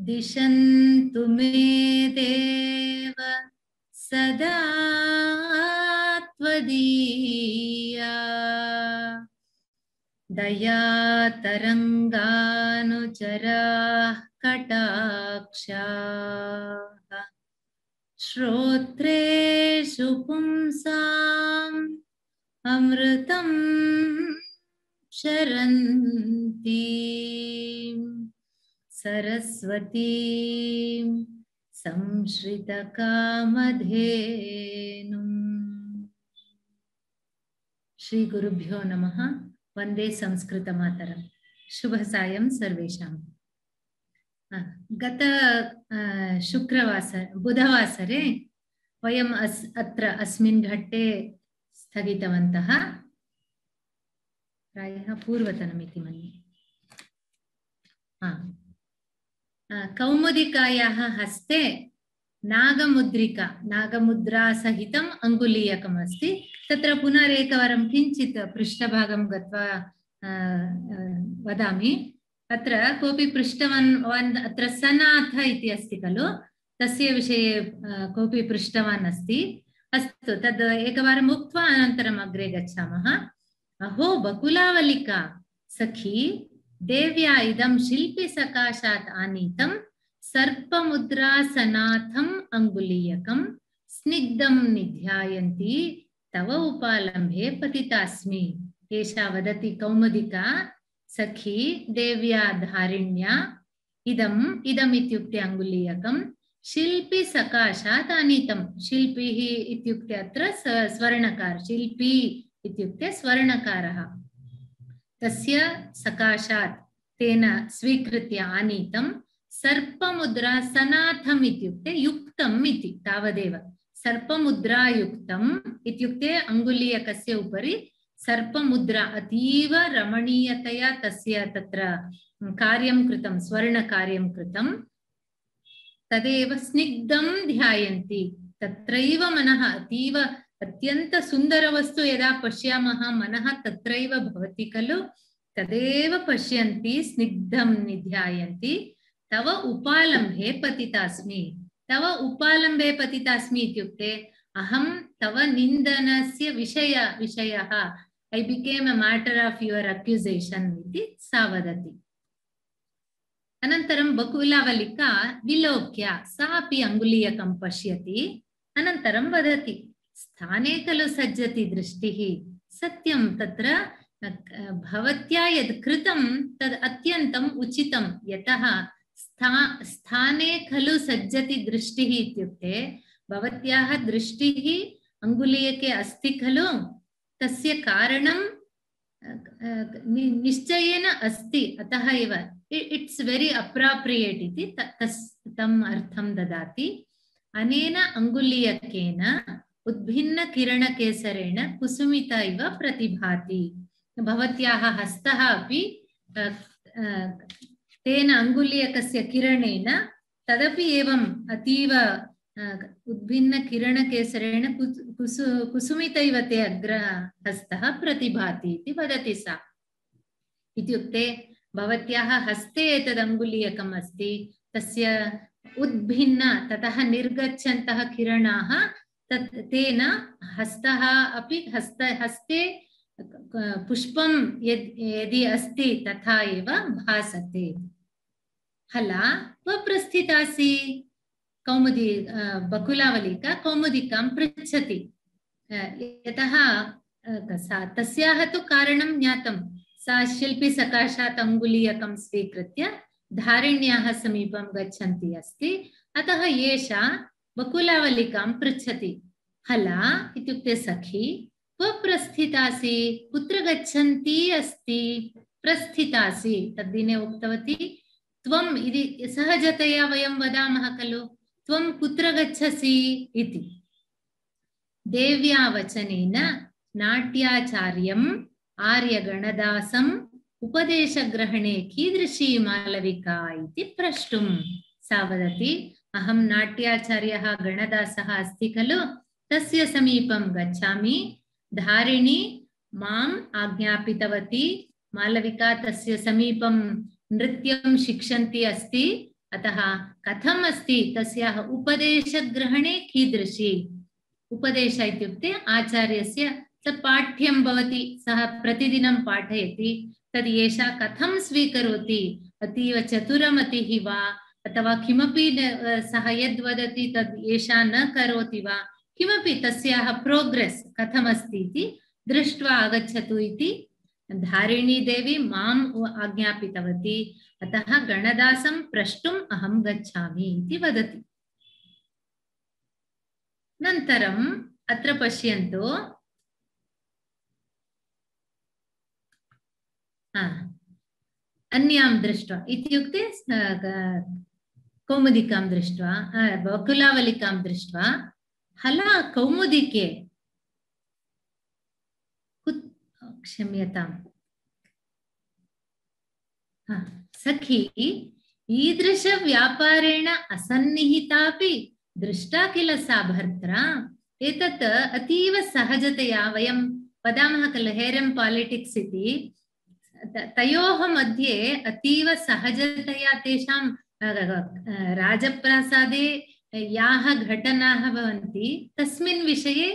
दिशन्तु मे देव सदा त्वदीया दया तरंगानुचराः कटाक्षाः श्रोत्रेषु पुंसाम् अमृतं क्षरन्ति सरस्वतीं संश्रितकामधेनुम्। श्री गुरुभ्यो नमः। वंदे संस्कृतमातरम्। शुभ सायं सर्वेषाम्। गत बुधवासरे वयम् अत्र अस्मिन् घट्टे स्थगितवन्तः। प्रायः पूर्वतनमिति मन्ये। कौमुदिकायाः हस्ते नागमुद्रिका नागमुद्रा सहितम् अङ्गुलीयकम् अस्ति। तत्र पुनरेकवारं किञ्चित् पृष्ठभागं गत्वा वदामि। अत्र कोऽपि पृष्टवान् अत्र सनाथ इति अस्ति खलु, तस्य विषये कोऽपि पृष्टवान् अस्ति। अस्तु, तद् एकवारम् उक्त्वा अनन्तरम् अग्रे गच्छामः। अहो बकुलावलिका सखी, देव्या इदं शिल्पिसकाशात् आनीतं सर्पमुद्रासनाथम् अङ्गुलीयकं स्निग्धं निध्यायन्ती तव उपालम्भे पतितास्मि। एषा वदति कौमुदिका, सखी देव्या धारिण्या इदम् इत्युक्ते अङ्गुलीयकं शिल्पी सकाशात् आनीतं। शिल्पिः इत्युक्ते अत्र स्वर्णकार, शिल्पी इत्युक्ते स्वर्णकारः। तस्य सकाशात् तेन स्वीकृत्य आनीतं सर्पमुद्रा सनाथम् इत्युक्ते युक्तम् इति तावदेव। सर्पमुद्रायुक्तम् इत्युक्ते अङ्गुलीयकस्य उपरि सर्पमुद्रा अतीव रमणीयतया तस्य तत्र कार्यं कृतं, स्वर्णकार्यं कृतं। तदेव स्निग्धं ध्यायन्ति। तत्रैव मनः अतीव अत्यंत सुन्दरवस्तु यदा पश्यामः मनः तत्रैव भवति खलु, तदेव पश्यन्ति, स्निग्धं निध्यायन्ति। तव उपालम्भे पतितास्मि। तव उपालम्भे पतितास्मि इत्युक्ते अहं तव निन्दनस्य विषयः, I became a matter of your accusation इति सा वदति। अनन्तरं बकुलावलिका विलोक्य सा अपि अङ्गुलीयकं पश्यति। अनन्तरं वदति, स्थाने खलु सज्जति दृष्टिः। सत्यं, तत्र भवत्या यद् कृतं तद् अत्यन्तम् उचितं। यतः स्थाने खलु सज्जति दृष्टिः इत्युक्ते भवत्याः दृष्टिः अङ्गुलीयके अस्ति खलु, तस्य कारणं निश्चयेन अस्ति। अतः एव इट्स् वेरी अप्रोप्रियेट् इति तम् अर्थं ददाति। अनेन अङ्गुलीयकेन उद्भिन्न किरणकेसरेण कुसुमिता इव प्रतिभाति। भवत्याः हस्तः अपि तेन अङ्गुलीयकस्य किरणेन तदपि एवम् अतीव उद्भिन्न किरणकेसरेण कुसुमिता इव ते अग्रहस्तः प्रतिभाति इति वदति सा। इत्युक्ते भवत्याः हस्ते एतद् अङ्गुलीयकम् अस्ति, तस्य उद्भिन्न ततः निर्गच्छन्तः किरणाः तेन हस्तः अपि हस्ते पुष्पं यदि अस्ति तथा एव भासते। हला क्व प्रस्थितासि? कौमुदी बकुलावलिका कौमुदिकां पृच्छति। यतः तस्याः तु कारणं ज्ञातं। सा शिल्पिसकाशात् अङ्गुलीयकं स्वीकृत्य धारिण्याः समीपं गच्छन्ती अस्ति। अतः एषा बकुलावलिकां पृच्छति। हला इत्युक्ते सखी, क्व प्रस्थितासि? कुत्र गच्छन्ती अस्ति? प्रस्थितासि तद्दिने उक्तवती त्वम् इति सहजतया वयं वदामः खलु, त्वं कुत्र गच्छसि इति। देव्या वचनेन नाट्याचार्यम् आर्यगणदासम् उपदेशग्रहणे कीदृशी मालविका इति प्रष्टुं सा वदति। अहं नाट्याचार्यः गणदासः अस्ति खलु, तस्य समीपं गच्छामि। धारिणी माम् आज्ञापितवती, मालविका तस्य समीपं नृत्यं शिक्षन्ती अस्ति, अतः कथम् अस्ति तस्याः उपदेशग्रहणे कीदृशी उपदेश इत्युक्ते आचार्यस्य तत् पाठ्यं भवति सः प्रतिदिनं पाठयति तद् एषा कथं स्वीकरोति अतीव चतुरमतिः वा अथवा किमपि सः यद् वदति तद् एषा न करोति वा किमपि तस्याः प्रोग्रेस् कथमस्ति इति दृष्ट्वा आगच्छतु इति धारिणी देवी माम् आज्ञापितवती अतः गणदासं प्रष्टुम् अहं गच्छामि इति वदति। नन्तरम् अत्र पश्यन्तु अन्यां दृष्ट्वा इत्युक्ते कौमुदिकां दृष्ट्वा बकुलावलिकां दृष्ट्वा हला कौमुदिके क्षम्यताम् सखी ईदृशव्यापारेण असन्निहितापि दृष्टा किल सा भर्त्रा एतत् अतीव सहजतया वयं वदामः खलु हेरं पॉलिटिक्स् इति तयोः मध्ये अतीव सहजतया तेषां राजप्रासादे याः घटनाः भवन्ति तस्मिन् विषये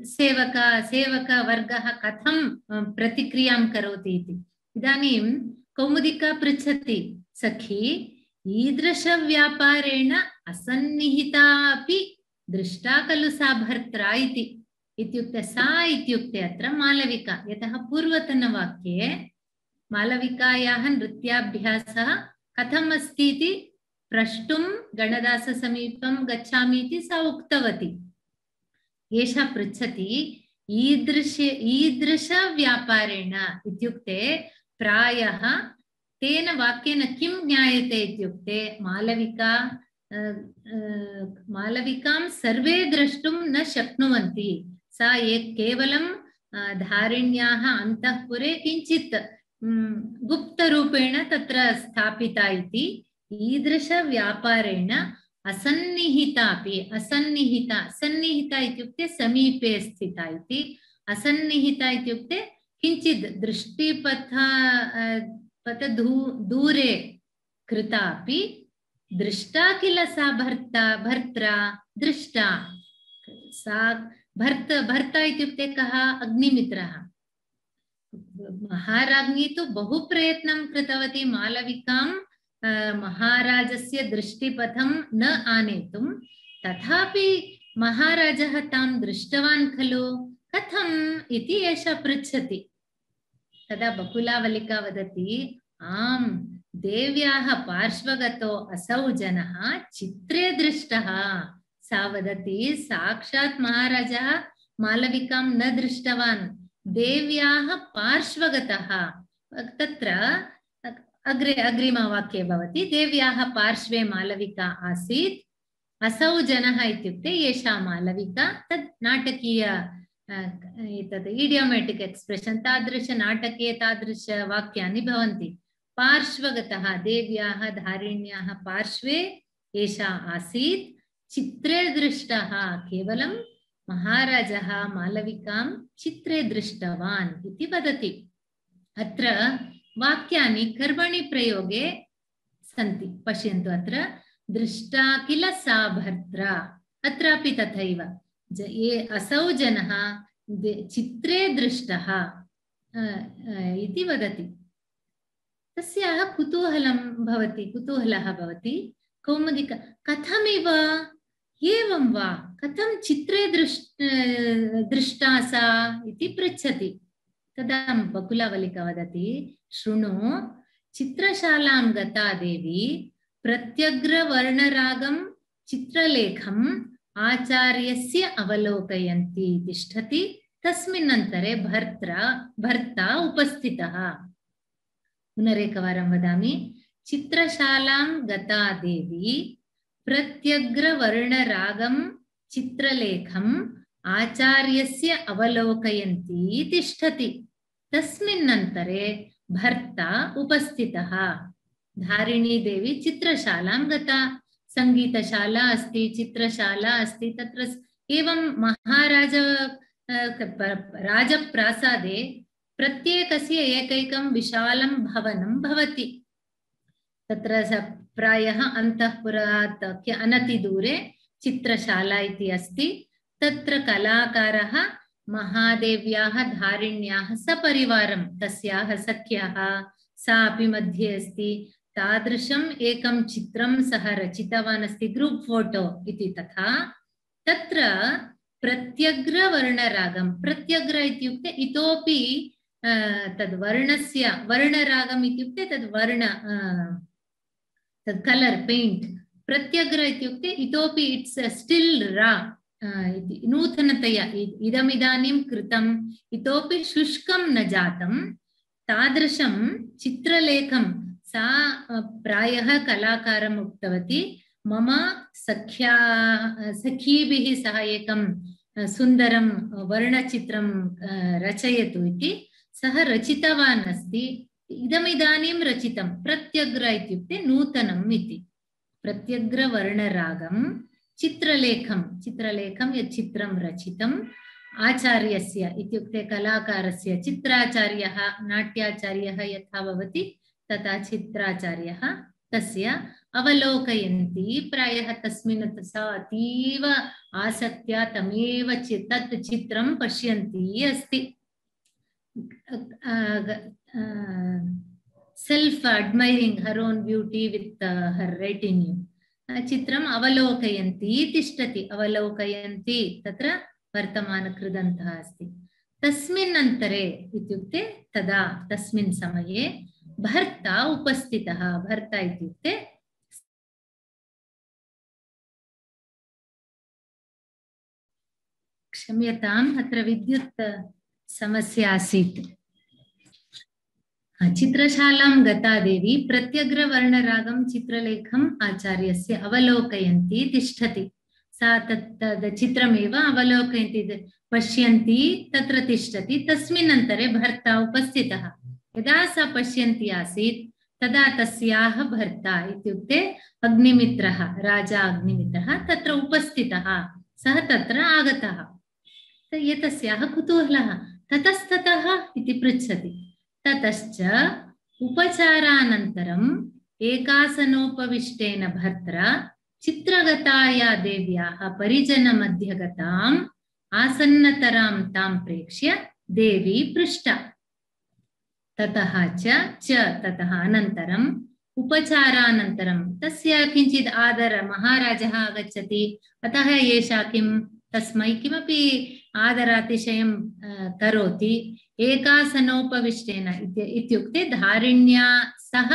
सेवकवर्गः कथं प्रतिक्रियां करोति इति। इदानीं कौमुदिका पृच्छति सखी ईदृशव्यापारेण असन्निहिता अपि दृष्टा खलु सा भर्त्रा इति। इत्युक्ते सा इत्युक्ते अत्र मालविका यतः पूर्वतनवाक्ये मालविकायाः नृत्याभ्यासः कथम् अस्ति इति प्रष्टुं गणदाससमीपं गच्छामि इति सा उक्तवती। एषा पृच्छति ईदृशव्यापारेण इत्युक्ते प्रायः तेन वाक्येन किं ज्ञायते इत्युक्ते मालविकां सर्वे द्रष्टुं न शक्नुवन्ति सा केवलं धारिण्याः अन्तःपुरे किञ्चित् गुप्तरूपेण तत्र स्थापिता इति। ईदृशव्यापारेण असन्निहितापि सन्निहिता इत्युक्ते समीपे स्थिता इति असन्निहिता इत्युक्ते किञ्चित् दृष्टिपथ दूरे कृतापि दृष्टा किल सा भर्त्रा दृष्टा सा भर्ता इत्युक्ते कः अग्निमित्रः महाराज्ञी तु बहु प्रयत्नं कृतवती मालविकां महाराजस्य दृष्टिपथं न आनेतुं तथापि महाराजः तां दृष्टवान् खलु कथम् इति एषा पृच्छति। तदा बकुलावलिका वदति आम् देव्याः पार्श्वगतो असौ जनः चित्रे दृष्टः। सा वदति साक्षात् महाराजः मालविकां न दृष्टवान् देव्याः पार्श्वगतः तत्र अग्रिमवाक्ये भवति देव्याः पार्श्वे मालविका आसीत् असौ जनः इत्युक्ते एषा मालविका तद् नाटकीय एतद् इडियोमेटिक् एक्स्प्रेशन् तादृश नाटके तादृश वाक्यानि भवन्ति। पार्श्वगतः देव्याः धारिण्याः पार्श्वे एषा आसीत् चित्रे दृष्टः केवलं महाराजः मालविकां चित्रे दृष्टवान् इति वदति। अत्र वाक्यानि कर्मणि प्रयोगे सन्ति पश्यन्तु अत्र दृष्टा किल सा भर्त्रा अत्रापि तथैव असौ जनः चित्रे दृष्टः इति वदति। तस्याः कुतूहलः भवति कौमुदिका कथमिव एवं वा कथं चित्रे दृष्टा सा इति पृच्छति। तदा बकुलावलिका वदति शृणु चित्रशालां गता देवी प्रत्यग्रवर्णरागं चित्रलेखम् आचार्यस्य अवलोकयन्ती तिष्ठति तस्मिन्नन्तरे भर्ता उपस्थितः। पुनरेकवारं वदामि चित्रशालां गता देवी प्रत्यग्रवर्णरागं चित्रलेखम् आचार्यस्य अवलोकयन्ती तिष्ठति तस्मिन्नन्तरे भर्ता उपस्थितः। धारिणी देवी चित्रशालां गता संगीतशाला अस्ति चित्रशाला अस्ति तत्र एवं राजप्रासादे प्रत्येकस्य एकैकं विशालं भवनं भवति। तत्र प्रायः अन्तःपुरात् अनतिदूरे चित्रशाला इति अस्ति। तत्र कलाकारः महादेव्याः धारिण्याः सपरिवारं तस्याः सख्याः सा अपि मध्ये अस्ति तादृशम् एकं चित्रं सः रचितवान् अस्ति ग्रुप् फोटो इति। तथा तत्र प्रत्यग्रवर्णरागं प्रत्यग्र इत्युक्ते इतोपि तद् वर्णस्य वर्णरागम् इत्युक्ते तद् वर्ण तद् कलर् पेण्ट् प्रत्यग्र इत्युक्ते इतोपि इट्स् स्टिल् रा नूतनतया इदमिदानीं कृतम् इतोपि शुष्कं न जातं तादृशं चित्रलेखं सा प्रायः कलाकारम् उक्तवती मम सखीभिः सह एकं सुन्दरं वर्णचित्रं रचयतु इति सः रचितवान् अस्ति। इदमिदानीं रचितं प्रत्यग्र इत्युक्ते नूतनम् इति। प्रत्यग्रवर्णरागं चित्रलेखं यत् चित्रं रचितम् आचार्यस्य इत्युक्ते कलाकारस्य चित्राचार्यः नाट्याचार्यः यथा भवति तथा चित्राचार्यः तस्य अवलोकयन्ति। प्रायः तस्मिन् सा अतीव आसक्त्या तमेव तत् चित्रं पश्यन्ती अस्ति। Self admiring her own beauty with her retinue चित्रम् अवलोकयन्ती तिष्ठति। अवलोकयन्ती तत्र वर्तमानकृदन्तः अस्ति। तस्मिन् अन्तरे इत्युक्ते तदा तस्मिन् समये भर्ता उपस्थितः। भर्ता इत्युक्ते क्षम्यताम् अत्र विद्युत् समस्या आसीत्। चित्रशालां गता देवी प्रत्यग्रवर्णरागं चित्रलेखम् आचार्यस्य अवलोकयन्ती तिष्ठति। सा तत् चित्रमेव अवलोकयन्ती पश्यन्ती तत्र तिष्ठति। तस्मिन् अन्तरे भर्ता उपस्थितः। यदा सा पश्यन्ती आसीत् तदा तस्याः भर्ता इत्युक्ते अग्निमित्रः राजा अग्निमित्रः तत्र उपस्थितः। सः तत्र आगतः। एतस्याः कुतूहलः ततस्ततः इति पृच्छति। ततश्च उपचारानन्तरम् एकासनोपविष्टेन भर्त्रा चित्रगताया देव्याः परिजनमध्यगताम् आसन्नतरां तां प्रेक्ष्य देवी पृष्टा। ततः ततः अनन्तरम् उपचारानन्तरं तस्य किञ्चित् आदर महाराजः आगच्छति अतः एषा किं तस्मै किमपि आदरातिशयं करोति। एकासनोपविष्टेन इत्युक्ते धारिण्या सह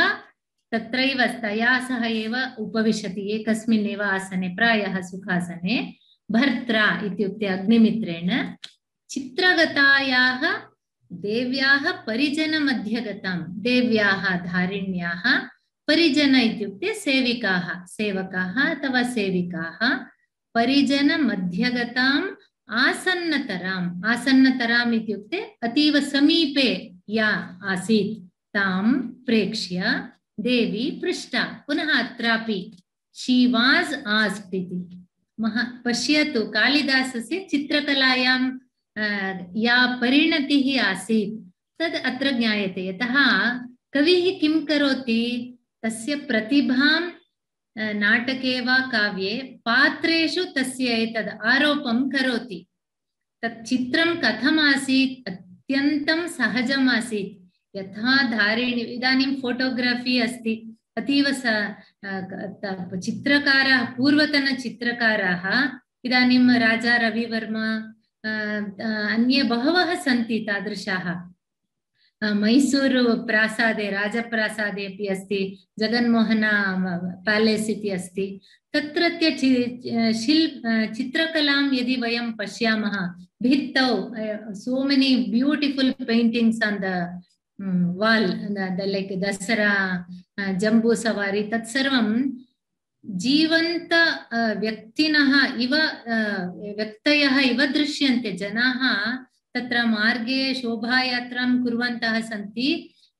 तत्रैव तया सह एव उपविशति एकस्मिन्नेव आसने प्रायः सुखासने। भर्त्रा इत्युक्ते अग्निमित्रेण चित्रगतायाः देव्याः परिजनमध्यगतां देव्याः धारिण्याः परिजन इत्युक्ते सेविकाः सेवकाः अथवा सेविकाः परिजनमध्यगताम् आसन्नतराम् आसन्नतराम् इत्युक्ते अतीव समीपे या आसीत् तां प्रेक्ष्य देवी पृष्टा। पुनः अत्रापि शी वास् आस्क्ड् इति पश्यतु कालिदासस्य चित्रकलायां या परिणतिः आसीत् तद् अत्र ज्ञायते। यतः कविः किं करोति तस्य प्रतिभां नाटके वा काव्ये पात्रेषु तस्य एतद् आरोपं करोति। तत् चित्रं कथम् आसीत् अत्यन्तं सहजम् आसीत्। यथा धारिणी इदानीं फोटोग्राफी अस्ति अतीव चित्रकाराः पूर्वतनचित्रकाराः इदानीं राजा रविवर्मा अन्ये बहवः सन्ति तादृशाः। मैसूरु प्रासादे राजप्रासादे अपि अस्ति जगन्मोहन पैलेस् इति अस्ति। तत्रत्य चित्रकलां यदि वयं पश्यामः भित्तौ so many beautiful paintings on the wall like Dussehra Jambu सवारी तत्सर्वं जीवन्त व्यक्तिनः इव व्यक्तयः इव दृश्यन्ते। जनाः तत्र मार्गे शोभायात्रां कुर्वन्तः सन्ति।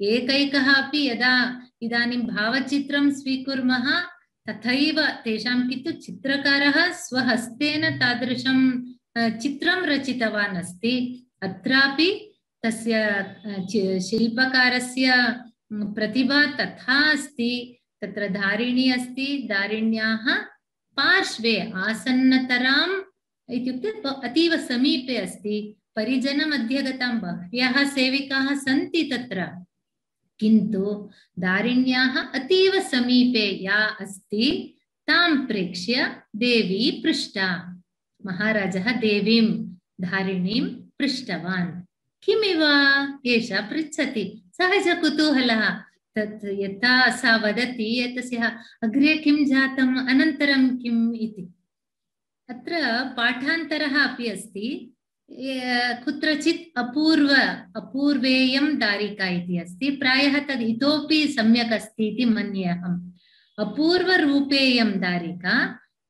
एकैकः अपि यदा इदानीं भावचित्रं स्वीकुर्मः तथैव तेषां किन्तु चित्रकारः स्वहस्तेन तादृशं चित्रं रचितवान् अस्ति। अत्रापि तस्य शिल्पकारस्य प्रतिभा तथा अस्ति। तत्र धारिणी अस्ति, धारिण्याः पार्श्वे आसन्नतराम् इत्युक्ते अतीव समीपे अस्ति। परिजनमध्यगतां बह्व्यः सेविकाः सन्ति तत्र, किन्तु धारिण्याः अतीव समीपे या अस्ति तां प्रेक्ष्य देवी पृष्टा। महाराजः देवीं धारिणीं पृष्टवान्। किमिव एषा पृच्छति, सहजकुतूहलः। तत् यथा सा वदति एतस्याः अग्रे किं जातम्, अनन्तरं किम् इति। अत्र पाठान्तरः अपि अस्ति। कुत्रचित् अपूर्वेयं दारिका इति अस्ति। प्रायः तद् इतोपि सम्यक् अस्ति इति मन्ये अहम्। अपूर्वरूपेयं दारिका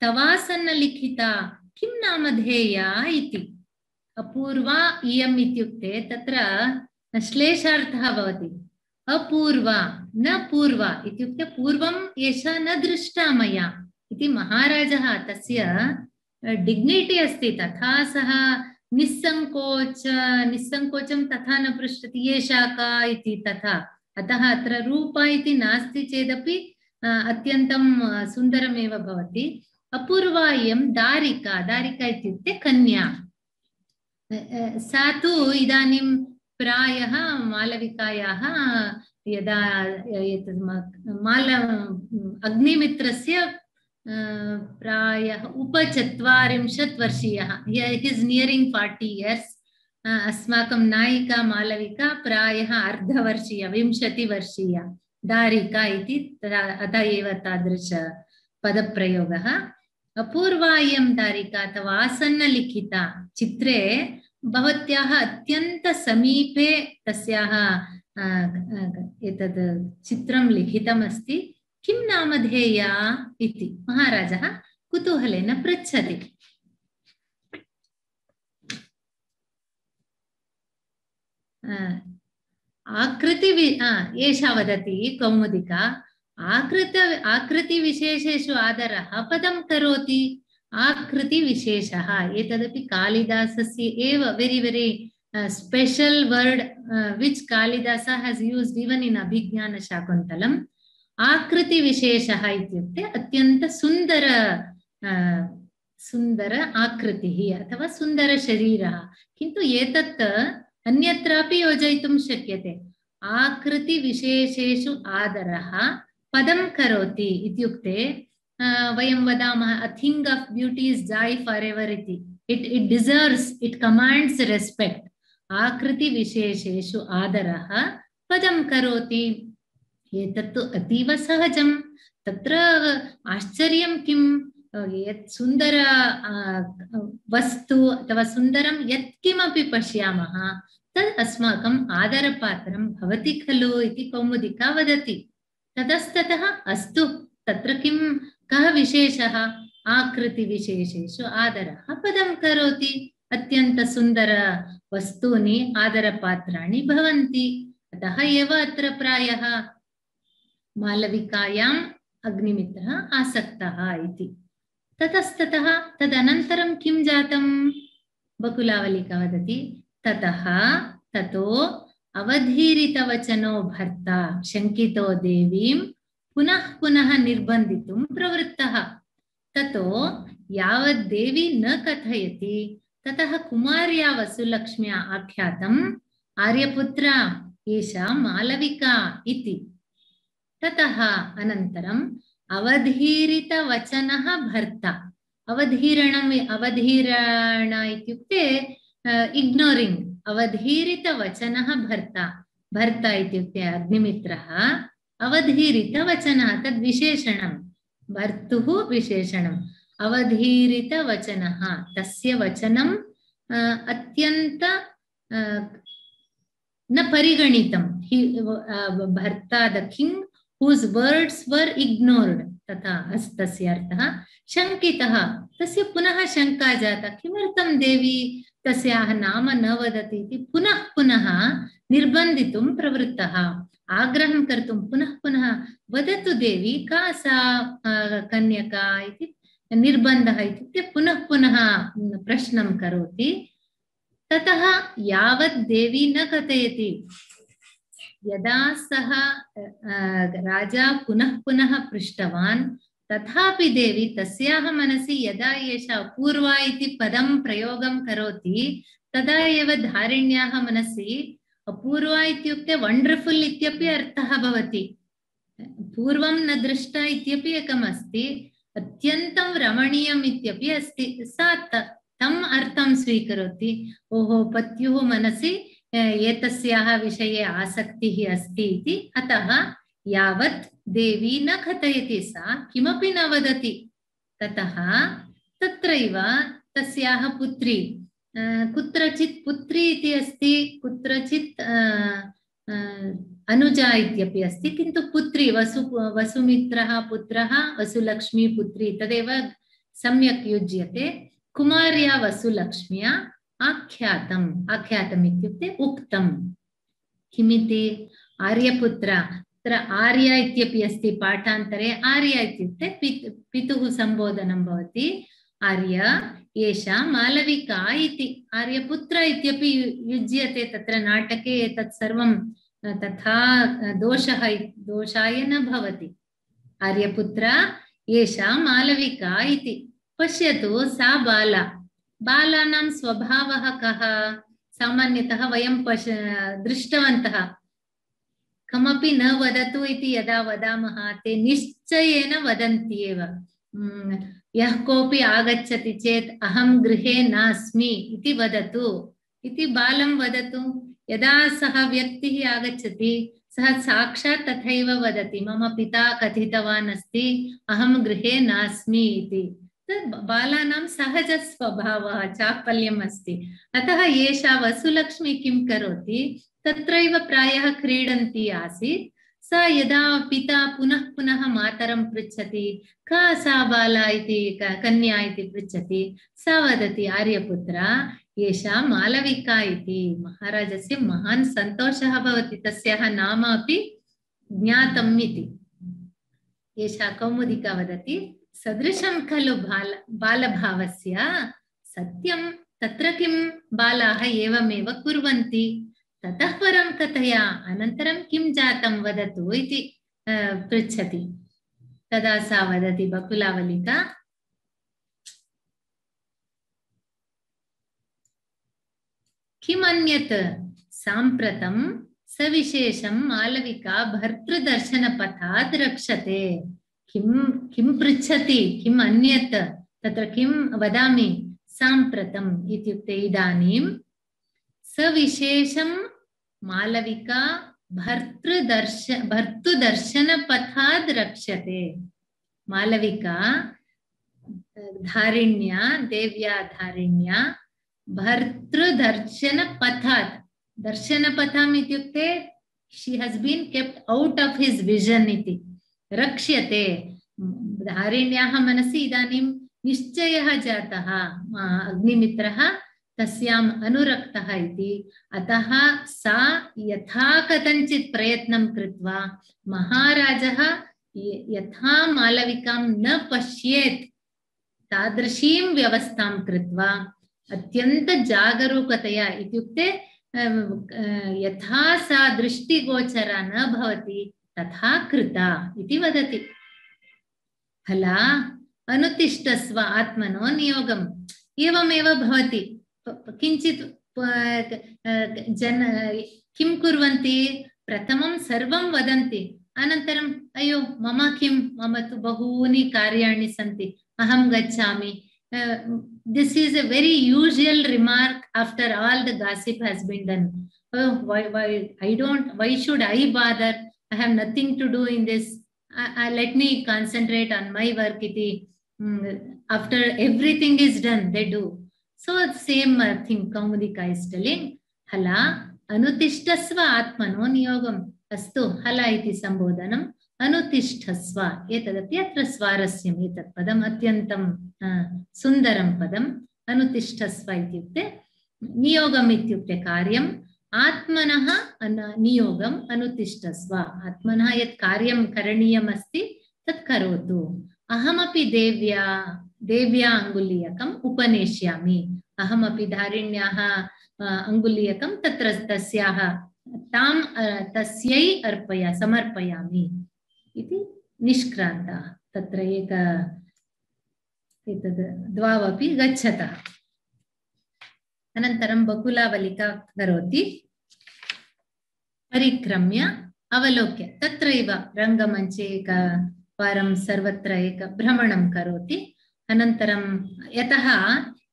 तवासन्नलिखिता किं नामधेया इति। अपूर्वा इयम् इत्युक्ते तत्र श्लेषार्थः भवति। अपूर्वा न पूर्वा इत्युक्ते पूर्वम् एषा न दृष्टा मया इति महाराजः, तस्य डिग्निटी अस्ति, तथा सः निस्सङ्कोचं तथा न पृच्छति एषा का इति तथा। अतः अत्र रूपा इति नास्ति चेदपि अत्यन्तं सुन्दरमेव भवति। अपूर्वा इयं दारिका, दारिका इत्युक्ते कन्या। सा तु इदानीं प्रायः मालविकायाः यदा अग्निमित्रस्य प्रायः 40 वर्षीयः, he is nearing 40 years. अस्माकं नायिका मालविका प्रायः अर्धवर्षीया, 20 वर्षीया दारिका इति, अतः एव तादृश पदप्रयोगः। अपूर्वा इयं दारिका अथवा आसन्नलिखिता, चित्रे भवत्याः अत्यन्त समीपे तस्याः एतद् चित्रं लिखितमस्ति। किं नामधेया इति महाराजः कुतूहलेन पृच्छति। एषा वदति कौमुदिका, आकृतिविशेषेषु आदरः पदं करोति। आकृतिविशेषः एतदपि कालिदासस्य एव very special word which Kalidasa has used even in Abhignana Shakuntalam. आकृतिविशेषः इत्युक्ते अत्यन्त सुन्दर आकृतिः अथवा सुन्दरशरीरः, किन्तु एतत् अन्यत्रापि योजयितुं शक्यते। आकृतिविशेषेषु आदरः पदं करोति इत्युक्ते वयं वदामः a thing of beauty is joy forever इति। It deserves, it commands respect. आकृतिविशेषेषु आदरः पदं करोति। एतत्तु अतीव सहजं। तत्र आश्चर्यं किं, यत् सुन्दर वस्तु अथवा सुन्दरं यत्किमपि पश्यामः तद् अस्माकम् आदरपात्रं भवति खलु इति कौमुदिका वदति। ततस्ततः अस्तु, तत्र किं, कः विशेषः, आकृतिविशेषेषु आदरः पदं करोति। अत्यन्त सुन्दर वस्तूनि आदरपात्राणि भवन्ति। अतः एव अत्र प्रायः मालविकायाम् अग्निमित्रः आसक्तः इति। ततस्ततः तदनन्तरं किं जातं, बकुलावलिका वदति। ततो अवधीरितवचनो भर्ता शङ्कितो देवीं पुनः पुनः निर्बन्धितुं प्रवृत्तः। ततो यावत् देवी न कथयति ततः कुमार्या वसुलक्ष्म्या आख्यातम् आर्यपुत्रा एषा मालविका इति। ततः अनन्तरम् अवधीरितवचनः भर्ता। अवधीरण इत्युक्ते इग्नोरिंग। अवधीरितवचनः भर्ता। भर्ता इत्युक्ते अग्निमित्रः। अवधीरितवचनः तद् विशेषणं, भर्तुः विशेषणम्। अवधीरितवचनः तस्य वचनम् अत्यन्त न परिगणितं। भर्ता the king whose words were ignored, तथा तस्य अर्थः। शङ्कितः, तस्य पुनः शङ्का जाता, किमर्थं देवी तस्याः नाम न वदति इति पुनः पुनः निर्बन्धितुं प्रवृत्तः। आग्रहं कर्तुं पुनः पुनः वदतु देवी का सा कन्यका इति निर्बन्धः इत्युक्ते पुनः पुनः प्रश्नं करोति। ततः यावत् देवी न कथयति यदा सः राजा पुनः पुनः पृष्टवान् तथापि देवी तस्याः मनसि यदा एषा अपूर्वा इति पदं प्रयोगं करोति तदा एव धारिण्याः मनसि अपूर्वा इत्युक्ते वंडर्फुल इत्यपि अर्थः भवति। पूर्वं न दृष्टा इत्यपि एकम् अस्ति, अत्यन्तं रमणीयम् इत्यपि अस्ति। सा तम् अर्थं स्वीकरोति। ओहो, पत्युः मनसि एतस्याः विषये आसक्तिः अस्ति इति। अतः यावत् देवी न कथयति सा किमपि न वदति। ततः तत्रैव तस्याः पुत्री, कुत्रचित् पुत्री इति अस्ति, कुत्रचित् अनुजा इत्यपि अस्ति, किन्तु पुत्री वसुमित्रः पुत्रः वसुलक्ष्मी पुत्री तदेव सम्यक् युज्यते। कुमार्या वसुलक्ष्म्या आख्यातम् इत्युक्ते उक्तं। किमिति? आर्यपुत्र। अत्र आर्य इत्यपि अस्ति पाठान्तरे। आर्य इत्युक्ते पितुः सम्बोधनं भवति। आर्य एषा मालविका इति। आर्यपुत्र इत्यपि युज्यते तत्र नाटके। एतत् सर्वं तथा दोषाय न भवति। आर्यपुत्र एषा मालविका इति। पश्यतु, सा बाला। बालानां स्वभावः कः? सामान्यतः वयं दृष्टवन्तः। कमपि न वदतु इति यदा वदामः ते निश्चयेन वदन्ति एव। यः कोऽपि आगच्छति चेत् अहं गृहे नास्मि इति वदतु इति बालं वदतु। यदा सः व्यक्तिः आगच्छति सः साक्षात् तथैव वदति, मम पिता कथितवान् अस्ति अहं गृहे नास्मि इति। बालानां सहज स्वभावः, चापल्यम् अस्ति। अतः एषा वसुलक्ष्मी किं करोति? तत्रैव प्रायः क्रीडन्ती आसीत्। सा यदा पिता पुनः पुनः मातरं पृच्छति का सा बाला इति, कन्या इति पृच्छति, सा वदति आर्यपुत्र एषा मालविका इति। महाराजस्य महान् सन्तोषः भवति, तस्याः नाम अपि ज्ञातम् इति। एषा कौमुदिका वदति सदृशं खलु बालभावस्य। सत्यं, तत्र किं बालाः एवमेव कुर्वन्ति। ततः परं कथया अनन्तरं किं जातं वदतु इति पृच्छति। तदा सा वदति बकुलावलिका, किमन्यत् साम्प्रतं सविशेषं मालविका भर्तृदर्शनपथात् रक्षते। किं पृच्छति, किम् अन्यत्, तत्र किं वदामि? साम्प्रतम् इत्युक्ते इदानीं सविशेषं मालविका भर्तृदर्शनपथात् रक्षते। मालविका धारिण्या, देव्या धारिण्या भर्तृदर्शनपथात्, दर्शनपथम् इत्युक्ते she has been kept out of his vision इति। रक्ष्यते। धारिण्याः मनसि इदानीं निश्चयः जातः अग्निमित्रः तस्याम् अनुरक्तः इति। अतः सा यथा कथञ्चित् प्रयत्नं कृत्वा महाराजः यथा मालविकां न पश्येत् तादृशीं व्यवस्थां कृत्वा अत्यन्त जागरूकतया, इत्युक्ते यथा सा दृष्टिगोचरा न भवति तथा कृता इति वदति। फला अनुतिष्ठस्व आत्मनो नियोगम्। एवमेव भवति। किञ्चित् किं कुर्वन्ति? प्रथमं सर्वं वदन्ति, अनन्तरम् अयो मम किं, मम तु बहूनि कार्याणि सन्ति, अहं गच्छामि। This is a very usual remark after all the gossip has been done. Oh, why should I bother? I have nothing to do in this. Let me concentrate on my work. After everything is done, they do. So same thing Kaumudika is telling. Hala anutishtasva atmano niyogam. Astu hala iti sambodhanam. अनुतिष्ठस्व एतदपि अत्र स्वारस्यम्। एतत् पदम् अत्यन्तं सुन्दरं पदम्। अनुतिष्ठस्व इत्युक्ते नियोगम् इत्युक्ते कार्यम्, आत्मनः नियोगम् अनुतिष्ठस्व। आत्मनः यत् कार्यं करणीयम् अस्ति तत् करोतु। अहमपि देव्या अङ्गुलीयकम् उपनेष्यामि। अहमपि धारिण्याः अङ्गुलीयकं तत्र तस्याः तां तस्यै समर्पयामि इति निष्क्रान्तः। तत्र एतद् द्वावपि गच्छतः। अनन्तरं बकुलावलिका करोति, परिक्रम्य अवलोक्य तत्रैव रङ्गमञ्चे एकवारं सर्वत्र एक भ्रमणं करोति। अनन्तरं यतः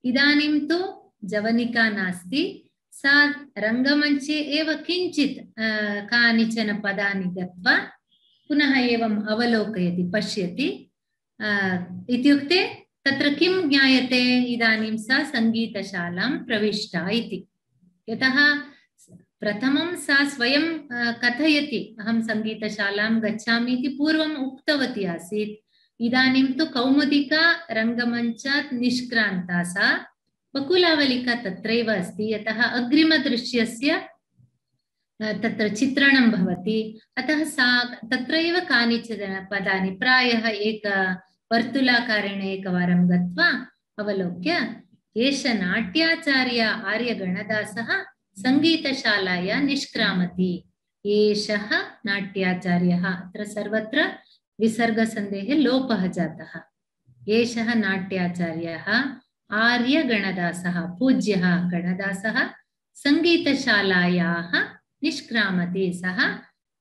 इदानीं तु जवनिका नास्ति, सा रङ्गमञ्चे एव किञ्चित् कानिचन पदानि गत्वा पुनः एवम् अवलोकयति, पश्यति। इत्युक्ते तत्र किं ज्ञायते, इदानीं सा सङ्गीतशालां प्रविष्टा इति। यतः प्रथमं सा स्वयं कथयति, अहं सङ्गीतशालां गच्छामि इति पूर्वम् उक्तवती आसीत्। इदानीं तु कौमुदिका रङ्गमञ्चात् निष्क्रान्ता सा, बकुलावलिका तत्रैव अस्ति। यतः अग्रिमदृश्यस्य तत्र चित्रणं भवति, अतः सा तत्रैव कानिचन पदानि प्रायः वर्तुलाकारेण एकवारं गत्वा अवलोक्य, एष नाट्याचार्य आर्यगणदासः सङ्गीतशालाया निष्क्रामति, एषः नाट्याचार्यः। अत्र सर्वत्र विसर्गसन्धेः लोपः जातः। एषः नाट्याचार्यः आर्यगणदासः, पूज्यः गणदासः सङ्गीतशालायाः निष्क्रामति। सः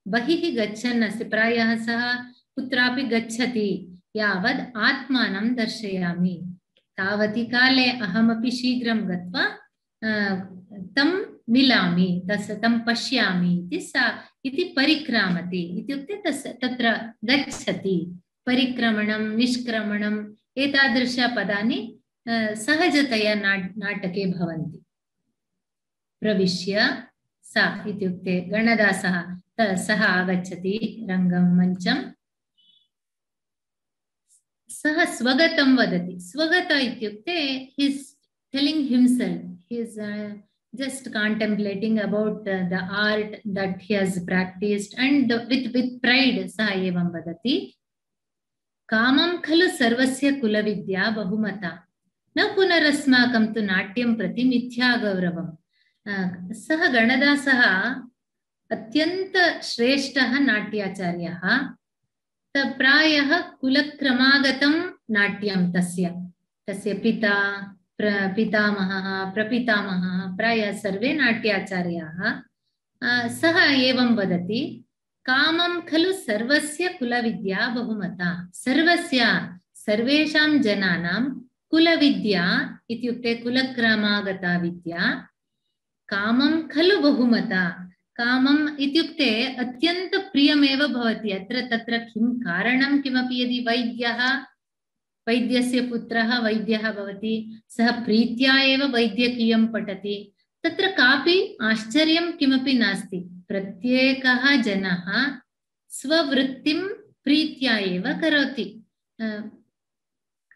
बहिः गच्छन् अस्ति, प्रायः सः कुत्रापि गच्छति यावद् आत्मानं दर्शयामि, तावति काले अहमपि शीघ्रं गत्वा तं मिलामि, तं पश्यामि इति परिक्रामति। इत्युक्ते तत्र गच्छति, परिक्रमणं निष्क्रमणम् एतादृशपदानि सहजतया नाटके भवन्ति। प्रविश्य सा इत्युक्ते गणदासः सः आगच्छति रङ्गमञ्चम्, सः स्वगतं वदति। स्वगत इत्युक्ते he is telling himself, he is just contemplating about the art that he has practiced and with pride सः एवं वदति, कामं खलु सर्वस्य कुलविद्या बहुमता, न पुनरस्माकं तु नाट्यं प्रति मिथ्या गौरवम्। सः गणदासः अत्यन्त श्रेष्ठः नाट्याचार्यः, प्रायः कुलक्रमागतं नाट्यं तस्य पिता पितामहः प्रपितामहः प्रायः सर्वे नाट्याचार्याः। सः एवं वदति, कामं खलु सर्वस्य कुलविद्या बहुमता, सर्वेषां जनानां कुलविद्या इत्युक्ते कुलक्रमागता विद्या, कामं खलु बहुमता, कामम् इत्युक्ते अत्यन्त प्रियमेव भवति। तत्र किं कारणं किमपि, यदि वैद्यस्य पुत्रः वैद्यः भवति, सः प्रीत्या एव वैद्यकीयं पठति, तत्र कापि आश्चर्यं किमपि नास्ति। प्रत्येकः जनः स्ववृत्तिं प्रीत्या एव करोति,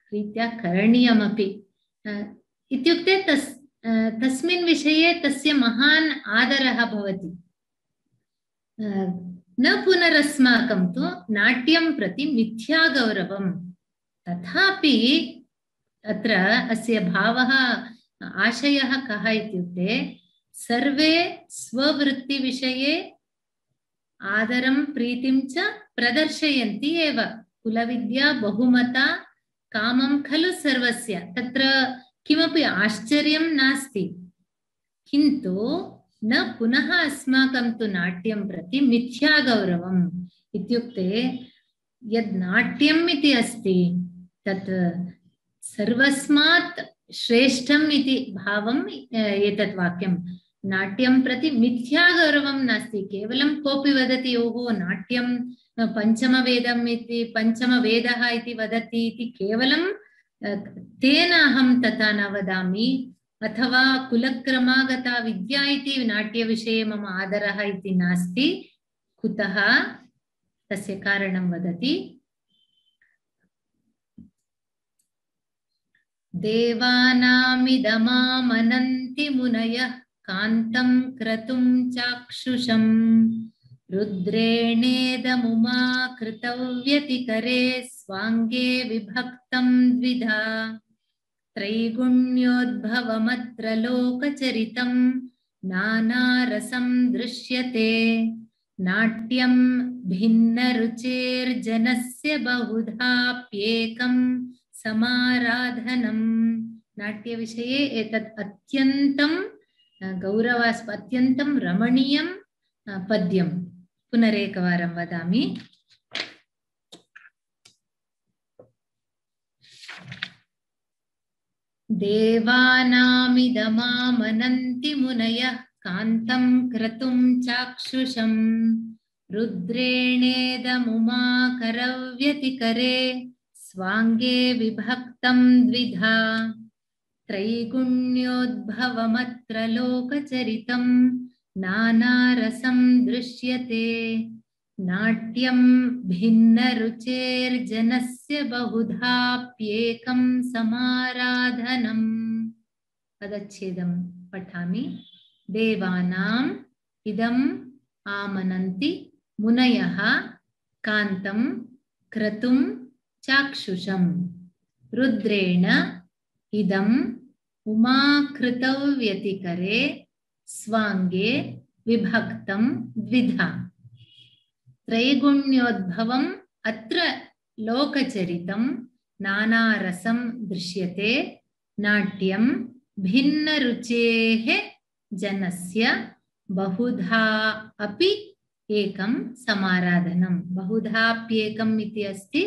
प्रीत्या करणीयमपि। इत्युक्ते तस्मिन् विषये तस्य महान् आदरः भवति। न पुनरस्माकं तु नाट्यं प्रति मिथ्या गौरवम्। तथापि अत्र अस्य भावः आशयः कः इत्युक्ते, सर्वे स्ववृत्तिविषये आदरं प्रीतिं च प्रदर्शयन्ति एव। कुलविद्या बहुमता, कामं खलु सर्वस्य, तत्र किमपि आश्चर्यं नास्ति। किन्तु न पुनः अस्माकं तु नाट्यं प्रति मिथ्या गौरवम् इत्युक्ते, यद् नाट्यम् इति अस्ति तत् सर्वस्मात् श्रेष्ठम् इति भावम् एतत् वाक्यं। नाट्यं प्रति मिथ्या गौरवं नास्ति। केवलं कोऽपि वदति, ओहो नाट्यं पञ्चमवेदम् इति, पञ्चमवेदः इति वदति इति, केवलं तेन अहं तथा न वदामि, अथवा कुलक्रमागता विद्या इति नाट्यविषये मम आदरः इति नास्ति। कुतः? तस्य कारणं वदति, देवानामिदमामनन्ति मुनयः कान्तं क्रतुं चाक्षुषं, रुद्रेणेदमुमा कृतव्यतिकरे स्वाङ्गे विभक्तं द्विधा, त्रैगुण्योद्भवमत्र लोकचरितं नानारसं दृश्यते नाट्यं भिन्नरुचेर्जनस्य बहुधाप्येकं समाराधनम् नाट्यविषये एतत् अत्यन्तं गौरवास्पदम् अत्यन्तं रमणीयं पद्यं पुनरेकवारं वदामि देवानामिदमामनन्ति मुनयः कान्तं क्रतुं चाक्षुषं रुद्रेणेदमुमाकरव्यतिकरे स्वाङ्गे विभक्तं द्विधा त्रैगुण्योद्भवमत्र लोकचरितं नानारसं दृश्यते नाट्यं भिन्नरुचेर्जनस्य बहुधाप्येकं समाराधनम् पदच्छेदं पठामि देवानाम् इदम् आमनन्ति मुनयः कान्तं क्रतुं चाक्षुषं रुद्रेण इदम् उमाकृतव्यतिकरे स्वाङ्गे विभक्तं द्विधा त्रैगुण्योद्भवम् अत्र लोकचरितं नानारसं दृश्यते नाट्यं भिन्नरुचेः जनस्य बहुधा अपि एकं समाराधनं बहुधाप्येकम् इति अस्ति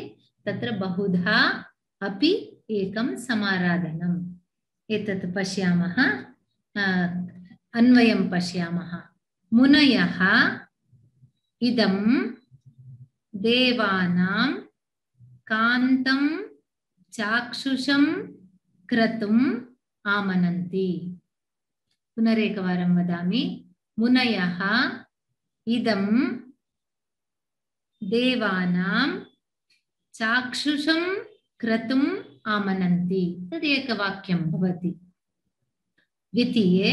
तत्र बहुधा अपि एकं समाराधनम् एतत् पश्यामः अन्वयं पश्यामः मुनयः इदं देवानां कान्तं चाक्षुषं क्रतुम् आमनन्ति पुनरेकवारं वदामि मुनयः इदं देवानां चाक्षुषं क्रतुम् आमनन्ति तदेकवाक्यं भवति द्वितीये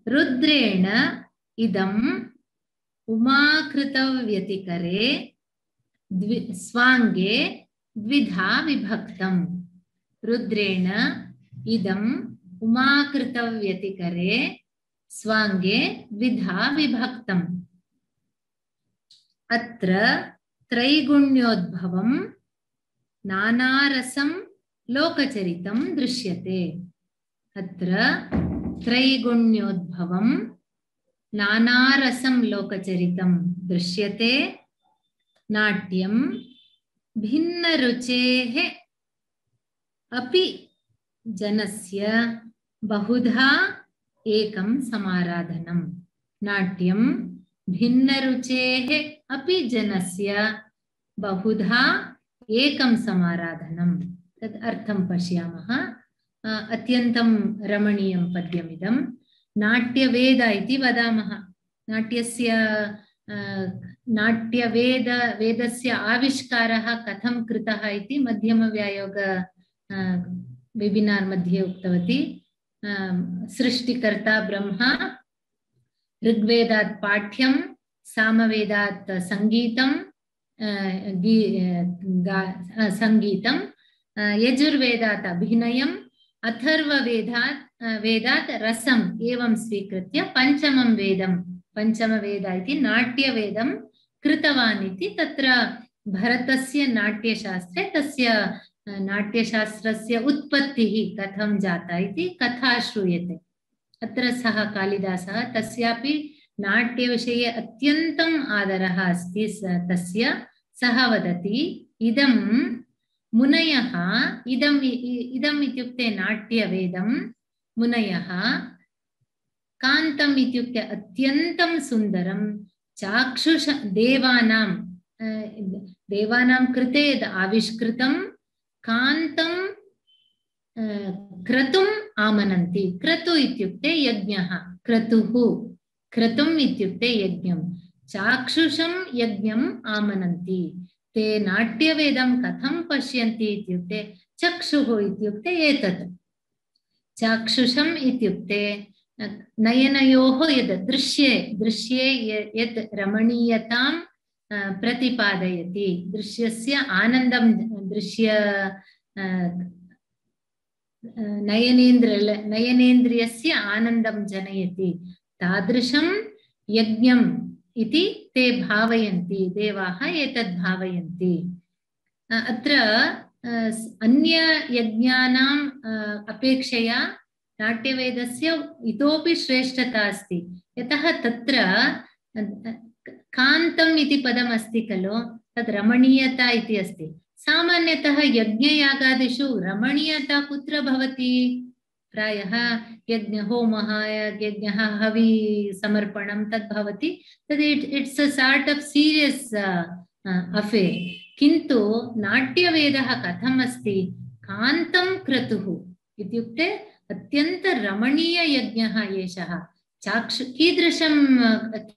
रुद्रेण इदम् उमाकृतव्यतिकरे स्वाङ्गे द्विधा विभक्तं रुद्रेण इदम् उमाकृतव्यतिकरे स्वाङ्गे द्विधा विभक्तम् अत्र त्रैगुण्योद्भवं नानारसं लोकचरितं दृश्यते अत्र त्रैगुण्योद्भवं नानारसं लोकचरितं दृश्यते नाट्यं भिन्नरुचेः अपि जनस्य बहुधा एकं समाराधनं नाट्यं भिन्नरुचेः अपि जनस्य बहुधा एकं समाराधनं तद् अर्थं पश्यामः अत्यन्तं रमणीयं पद्यमिदं नाट्यवेद इति वदामः नाट्यस्य वेदस्य आविष्कारः कथं कृतः इति मध्यमव्यायोग वेबिनार् मध्ये उक्तवती सृष्टिकर्ता ब्रह्मा ऋग्वेदात् पाठ्यं सामवेदात् संगीतं यजुर्वेदात् अभिनयम् अथर्ववेदात् रसम् एवं स्वीकृत्य पञ्चमवेद इति नाट्यवेदं कृतवान् इति तत्र भरतस्य नाट्यशास्त्रे तस्य नाट्यशास्त्रस्य उत्पत्तिः कथं जाता इति कथा श्रूयते अत्र सः कालिदासः तस्यापि नाट्यविषये अत्यन्तम् आदरः अस्ति तस्य सः वदति इदं मुनयः इदम् इत्युक्ते नाट्यवेदं मुनयः कान्तम् इत्युक्ते अत्यन्तं सुन्दरं चाक्षुष देवानां कृते यद् आविष्कृतं कान्तं क्रतुम् आमनन्ति क्रतु इत्युक्ते यज्ञः क्रतुः क्रतुम् इत्युक्ते यज्ञं चाक्षुषं यज्ञम् आमनन्ति ते नाट्यवेदं कथं पश्यन्ति इत्युक्ते चक्षुः इत्युक्ते एतत् चाक्षुषम् इत्युक्ते नयनयोः यद् दृश्ये यत् रमणीयतां प्रतिपादयति दृश्यस्य आनन्दं नयनेन्द्रियस्य आनन्दं जनयति तादृशं यज्ञम् इति ते भावयन्ति, देवाः एतद् भावयन्ति। अत्र अन्य यज्ञानाम् अपेक्षया नाट्यवेदस्य इतोपि श्रेष्ठता अस्ति। यतः तत्र कान्तम् इति पदम् अस्ति खलु, तद् रमणीयता इति अस्ति। सामान्यतः यज्ञयागादिषु रमणीयता कुत्र भवति? प्रायः यज्ञहोमः, यज्ञः, हवि समर्पणं तद् भवति। तद् it's a sort of serious affair. किन्तु नाट्यवेदः कथम् अस्ति? कान्तं क्रतुः इत्युक्ते अत्यन्त रमणीययज्ञः एषः।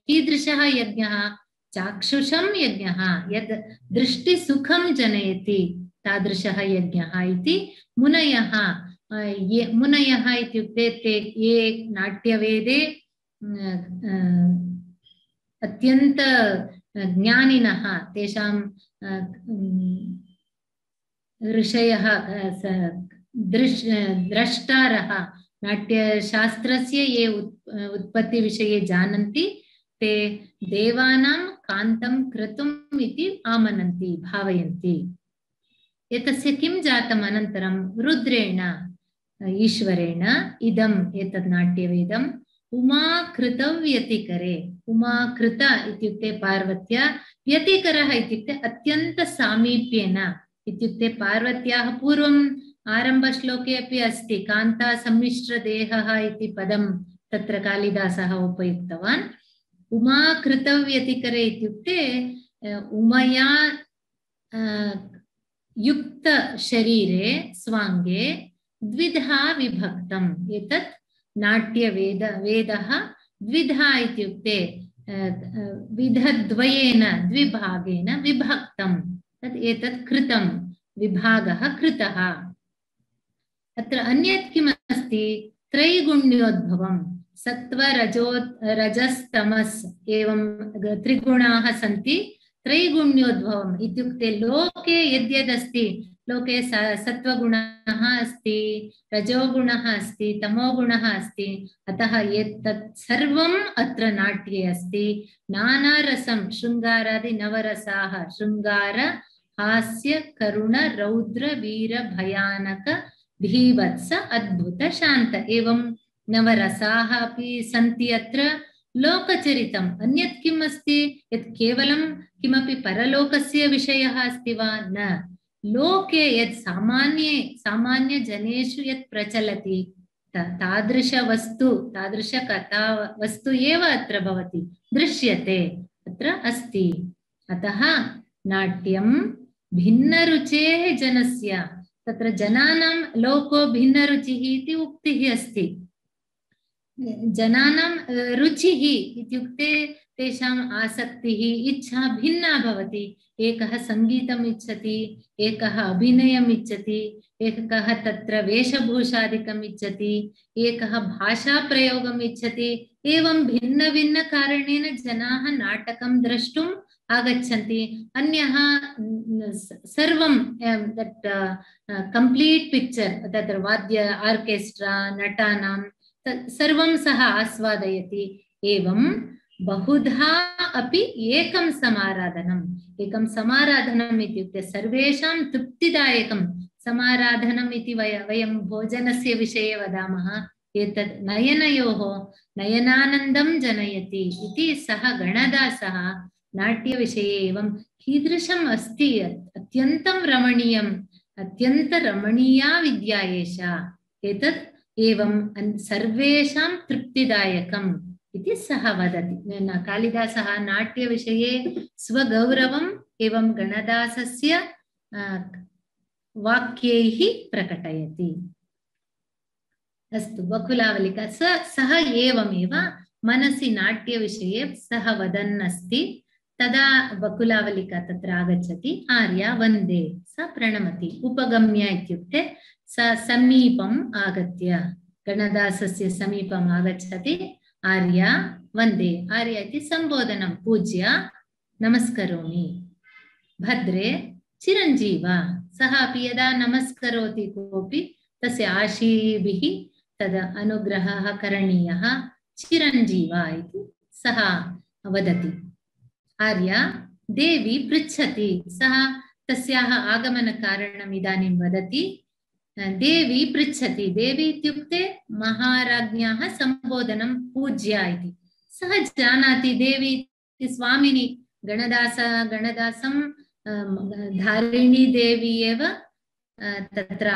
कीदृशः यज्ञः? चाक्षुषं यज्ञः, यद् दृष्टिसुखं जनयति तादृशः यज्ञः इति मुनयः इत्युक्ते ते ये नाट्यवेदे अत्यन्त ज्ञानिनः, तेषां ऋषयः, द्रष्टारः, नाट्यशास्त्रस्य ये उत्पत्तिविषये जानन्ति, ते देवानां कान्तं क्रतुम् इति आमनन्ति, भावयन्ति। एतस्य किं जातम् अनन्तरं? रुद्रेण ईश्वरेण इदम् एतत् नाट्यवेदम् उमाकृतव्यतिकरे। उमाकृत इत्युक्ते पार्वत्या, व्यतिकरः इत्युक्ते अत्यन्त सामीप्येन, इत्युक्ते पार्वत्याः पूर्वम् आरम्भश्लोके अपि अस्ति, कान्ता सम्मिश्रदेहः इति पदं तत्र कालिदासः उपयुक्तवान्। उमाकृतव्यतिकरे इत्युक्ते उमया युक्त शरीरे स्वांगे द्विधा विभक्तम्। एतत् नाट्यवेदः द्विधा इत्युक्ते विधद्वयेन द्विभागेन विभक्तम्। तत् एतत् कृतं, विभागः कृतः। अत्र अन्यत् किमस्ति? त्रैगुण्योद्भवम्, सत्त्व रजस्तमस् एवं त्रिगुणाः सन्ति। त्रैगुण्योद्भवम् इत्युक्ते लोके यद्यदस्ति, लोके सत्त्वगुणः अस्ति, रजोगुणः अस्ति, तमोगुणः अस्ति। अतः एतत् सर्वम् अत्र नाट्ये अस्ति। नानारसं, शृङ्गारादि नवरसाः, शृङ्गार, हास्य, करुण, रौद्र, वीर, भयानक, धीवत्स, अद्भुत, शान्त एवं नवरसाः अपि सन्ति अत्र। लोकचरितम् अन्यत् किम् अस्ति? यत् केवलं किमपि परलोकस्य विषयः अस्ति वा? न, लोके यत् सामान्यजनेषु यत् प्रचलति तादृशवस्तु, तादृशकथा वस्तु एव अत्र भवति, दृश्यते, अत्र अस्ति। अतः नाट्यं भिन्नरुचेः जनस्य, तत्र जनानां लोको भिन्नरुचिः इति उक्तिः अस्ति। जनानां रुचिः इत्युक्ते तेषाम् आसक्तिः, इच्छा भिन्ना भवति। एकः सङ्गीतम् इच्छति, एकः अभिनयम् इच्छति, एकः तत्र वेशभूषादिकम् इच्छति, एकः भाषाप्रयोगम् इच्छति। एवं भिन्नभिन्नकारणेन जनाः नाटकं द्रष्टुम् आगच्छन्ति। अन्यः सर्वं दट् कम्प्लीट् पिक्चर्, तत्र वाद्य आर्केस्ट्रा, नटानां सर्वं सः आस्वादयति। एवं बहुधा अपि एकं समाराधनम् इत्युक्ते सर्वेषां तृप्तिदायकं समाराधनम् इति वयं भोजनस्य विषये वदामः। एतत् नयनयोः नयनानन्दं जनयति इति सः गणदासः नाट्यविषये एवं कीदृशम् अस्ति, अत्यन्तं रमणीयम्, अत्यन्तरमणीया विद्या एषा। एतत् एवं सर्वेषां तृप्तिदायकम् इति सः वदति। कालिदासः नाट्यविषये स्वगौरवम् एवं गणदासस्य वाक्यैः प्रकटयति। अस्तु, बकुलावलिका सः एवमेव मनसि नाट्यविषये सः वदन् अस्ति। तदा बकुलावलिका तत्र आगच्छति। आर्या वन्दे, स प्रणमति। उपगम्य इत्युक्ते स समीपम् आगत्य, गणदासस्य समीपम् आगच्छति। आर्या वन्दे, आर्या इति सम्बोधनं, पूज्य नमस्करोमि। भद्रे चिरञ्जीव, सः अपि यदा नमस्करोति कोऽपि तस्य आशीर्भिः तद् अनुग्रहः करणीयः। चिरञ्जीवा इति सः वदति। आर्या देवी पृच्छति, सः तस्याः आगमनकारणम् इदानीं वदति। देवी पृच्छति, देवी इत्युक्ते महाराज्ञ्याः सम्बोधनं पूज्या इति। सः जानाति देवी इति स्वामिनी, गणदासं धारिणी देवी एव तत्र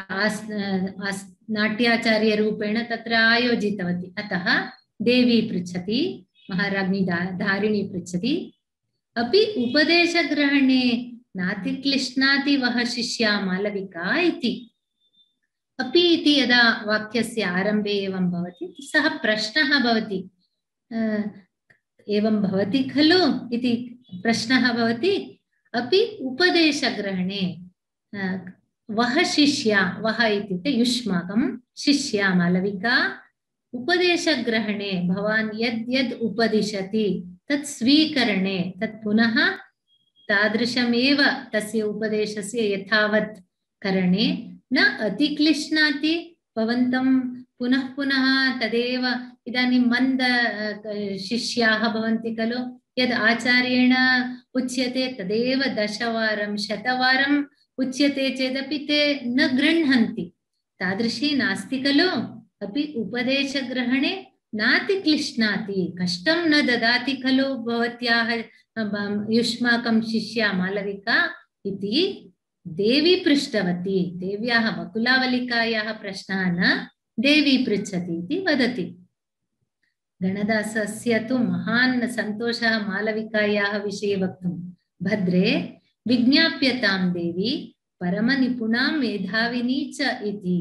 नाट्याचार्यरूपेण तत्र आयोजितवती। अतः देवी पृच्छति, महाराज्ञी धारिणी पृच्छति, अपि उपदेशग्रहणे नातिक्लिश्नाति वः शिष्या मालविका इति। अपि इति यदा वाक्यस्य आरम्भे एवं भवति, सः प्रश्नः भवति, एवं भवति खलु इति प्रश्नः भवति। अपि उपदेशग्रहणे वः शिष्या, वः इत्युक्ते युष्माकं शिष्या मालविका, उपदेशग्रहणे भवान् यद् यद् उपदिशति तत् स्वीकरणे, तत् पुनः तादृशमेव तस्य उपदेशस्य यथावत् करणे न अतिक्लिश्नाति। भवन्तं पुनः पुनः तदेव, इदानीं मन्द शिष्याः भवन्ति खलु, यद् आचार्येण उच्यते तदेव 10 वारं 100 वारम् उच्यते चेदपि ते न गृह्णन्ति, तादृशी नास्ति खलु। अपि उपदेशग्रहणे नातिक्लिश्नाति, कष्टं न ददाति खलु भवत्याः युष्माकं शिष्या मालविका इति देवी पृष्टवती। देव्याः वकुलावलिकायाः प्रश्नः न, देवी पृच्छति इति वदति। गणदासस्य तु महान् सन्तोषः मालविकायाः विषये वक्तुं। भद्रे विज्ञाप्यतां देवी परमनिपुणा मेधाविनी च इति।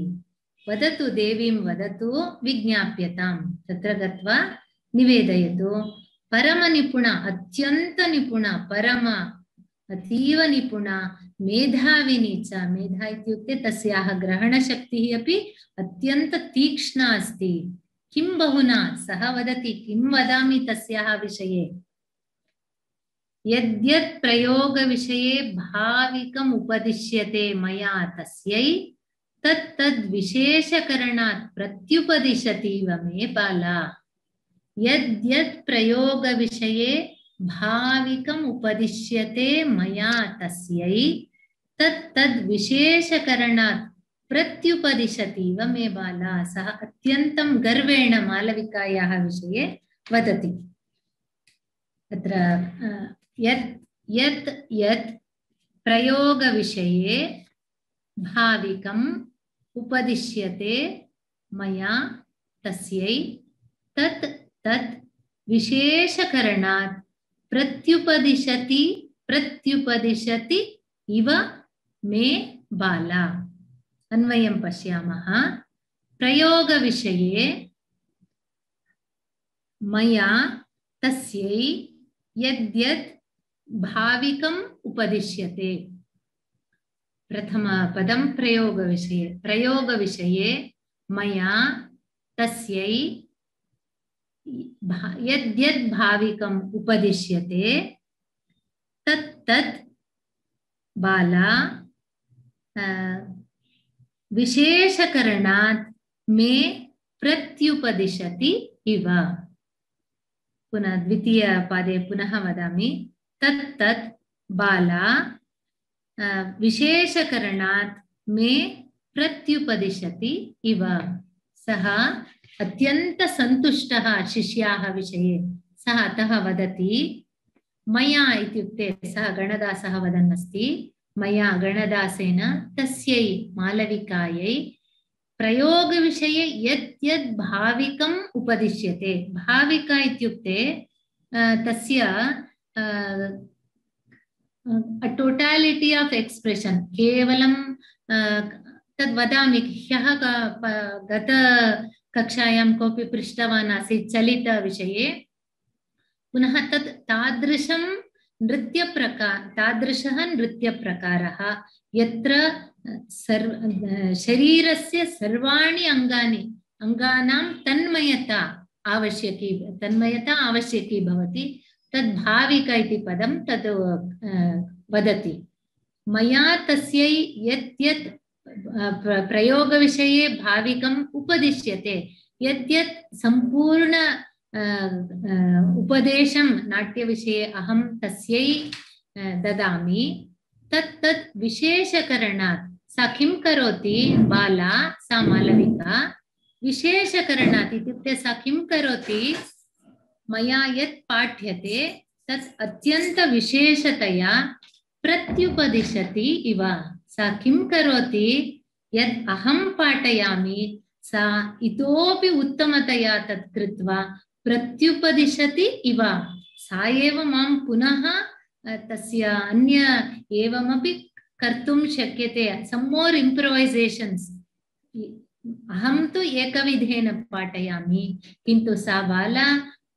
वदतु, देवीं वदतु, विज्ञाप्यतां, तत्र गत्वा निवेदयतु। परमनिपुणा, अत्यन्तनिपुणा, परम अतीव निपुणा, मेधाविनी च, मेधा इत्युक्ते तस्याः ग्रहणशक्तिः अपि अत्यन्त तीक्ष्णा अस्ति। किं बहुना, सः वदति, किं वदामि तस्याः विषये। यद्यत् प्रयोगविषये भाविकम् उपदिश्यते मया तस्यै तत् विशेषकरणात् प्रत्युपदिशतीव मे बाला। यद्यत् प्रयोगविषये भाविकम् उपदिश्यते मया तस्यै तत् विशेषकरणात् प्रत्युपदिशतीव मे बाला। सः अत्यन्तं गर्वेण मालविकायाः विषये वदति। तत्र यत् यत् प्रयोगविषये भाविकम् उपदिश्यते मया तस्यै तत् विशेषकरणात् प्रत्युपदिशति इव मे बाला। अन्वयं पश्यामः। प्रयोगविषये मया तस्यै यद्यत् भाविकम् उपदिश्यते। प्रथमपदं प्रयोगविषये। प्रयोगविषये मया तस्यै यद्यद् भाविकम् उपदिश्यते तत् बाला विशेषकरणात् मे प्रत्युपदिशति इव। पुनः द्वितीयपादे पुनः वदामि। तत् बाला विशेषकरणात् मे प्रत्युपदिशति इव। सः अत्यंत सन्तुष्टः शिष्याः विषये। सः अतः वदति, मया इत्युक्ते सः गणदासः वदन् अस्ति, मया गणदासेन तस्यै मालविकायै प्रयोगविषये यद्यद् भाविकम् उपदिश्यते। भाविका इत्युक्ते तस्य टोटालिटी ऑफ एक्सप्रेशन। केवलं तद् वदामि। ह्यः गत कक्षायां कोऽपि पृष्टवान् आसीत् चलितविषये। पुनः तत् तादृशः नृत्यप्रकारः यत्र शरीरस्य सर्वाणि अङ्गानां तन्मयता आवश्यकी भवति। तद् भाविका इति पदं तद् वदति। मया तस्यै यत् प्रयोगविषये भाविकम् उपदिश्यते, यद्यत् सम्पूर्ण उपदेशं नाट्यविषये अहं तस्यै ददामि। तत् विशेषकरणात् सा किं करोति, बाला सा मालविका विशेषकरणात् इत्युक्ते सा किं करोति, मया यत् पाठ्यते तत् अत्यन्त विशेषतया प्रत्युपदिशति इव। सा किं करोति, यद् अहं पाठयामि सा इतोपि उत्तमतया तत् कृत्वा प्रत्युपदिशति इव। सा एव मां पुनः तस्य अन्य एवमपि कर्तुं शक्यते, सम् मोर् इम्प्रोवैसेशन्स्। अहं तु एकविधेन पाठयामि, किन्तु सा बाला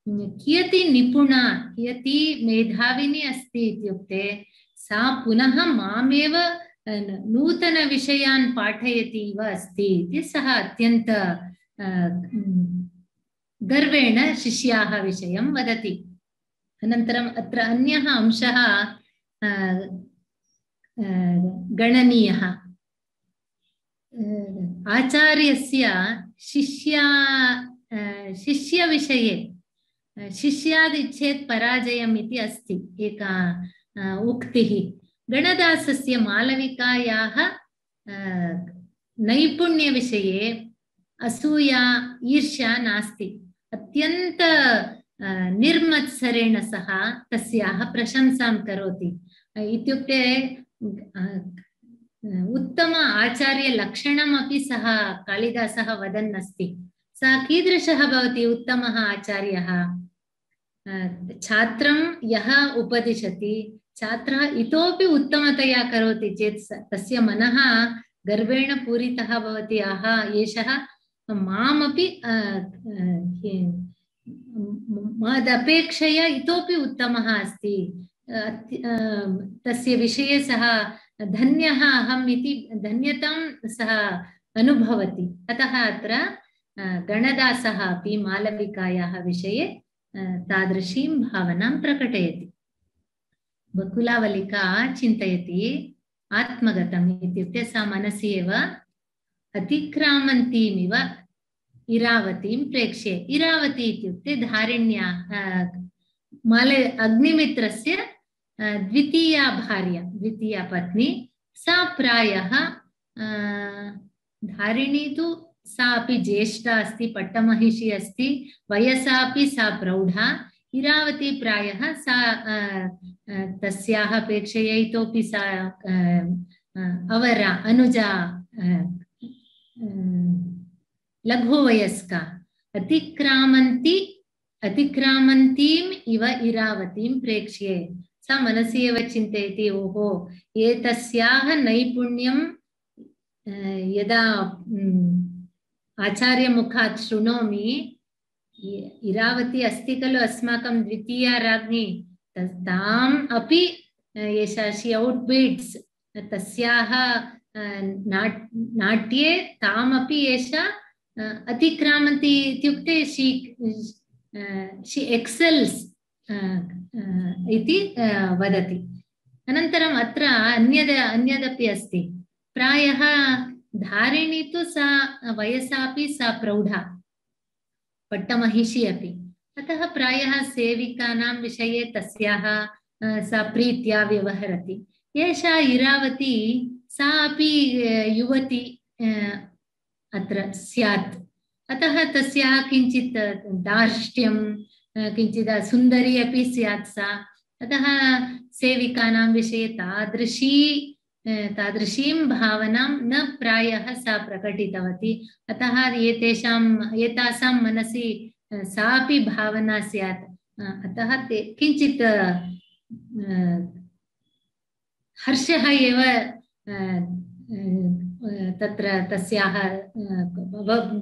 कियती निपुणा, कियती मेधाविनी अस्ति इत्युक्ते सा पुनः मामेव नूतनविषयान् पाठयति इव अस्ति इति सः अत्यन्त गर्वेण शिष्याः विषयं वदति। अनन्तरम् अत्र अन्यः अंशः गणनीयः। आचार्यस्य शिष्यविषये शिष्यादिच्छेत् पराजयम् इति अस्ति एका उक्तिः। गणदासस्य मालविकायाः नैपुण्यविषये असूया ईर्ष्या नास्ति। अत्यन्त निर्मत्सरेण सः तस्याः प्रशंसां करोति। इत्युक्ते उत्तम आचार्यलक्षणमपि सः कालिदासः वदन् अस्ति। सः कीदृशः भवति उत्तमः आचार्यः, छात्रं यः उपदिशति छात्रः इतोपि उत्तमतया करोति चेत् तस्य मनः गर्वेण पूरितः भवति। आहा, एषः मामपि मदपेक्षया इतोपि उत्तमः अस्ति, तस्य विषये सः धन्यः अहम् इति धन्यतां सः अनुभवति। अतः अत्र गणदासः अपि मालविकायाः विषये तादृशीं भावनां प्रकटयति। बकुलावलिका चिन्तयति आत्मगतम् इत्युक्ते सा मनसि एव अतिक्रामन्तीमिव इरावतीं प्रेक्ष्ये। इरावती इत्युक्ते धारिण्या अग्निमित्रस्य द्वितीया भार्या, द्वितीया पत्नी। सा प्रायः धारिणी तु सा अपि ज्येष्ठा अस्ति, पट्टमहिषी अस्ति, वयसा अपि सा प्रौढा। इरावती प्रायः सा तस्याः अपेक्षया इतोपि सा अवरा अनुजा लघुवयस्का। अतिक्रामन्तीम् इव इरावतीं प्रेक्ष्ये। सा मनसि एव चिन्तयति, ओहो, एतस्याः नैपुण्यं यदा आचार्यमुखात् शृणोमि, इरावती अस्ति खलु अस्माकं द्वितीया राज्ञी, ताम् अपि एषा शी औट्बीट्स्, तस्याः नाट्ये तामपि एषा अतिक्रामन्ति इत्युक्ते शी एक्सेल्स् इति वदति। अनन्तरम् अत्र अन्यदपि अस्ति। प्रायः धारिणी तु सा वयसापि सा प्रौढा, पट्टमहिषी अपि। अतः प्रायः सेविकानां विषये तस्याः सा प्रीत्या व्यवहरति। एषा इरावती सा अपि युवती अत्र स्यात्। अतः तस्याः किञ्चित् दार्ष्ट्यं, किञ्चित् सुन्दरी अपि स्यात् सा। अतः सेविकानां विषये तादृशीं भावनां न प्रायः सा प्रकटितवती। अतः एतासां मनसि सापि भावना स्यात्। अतः किञ्चित् हर्षः एव तत्र तस्याः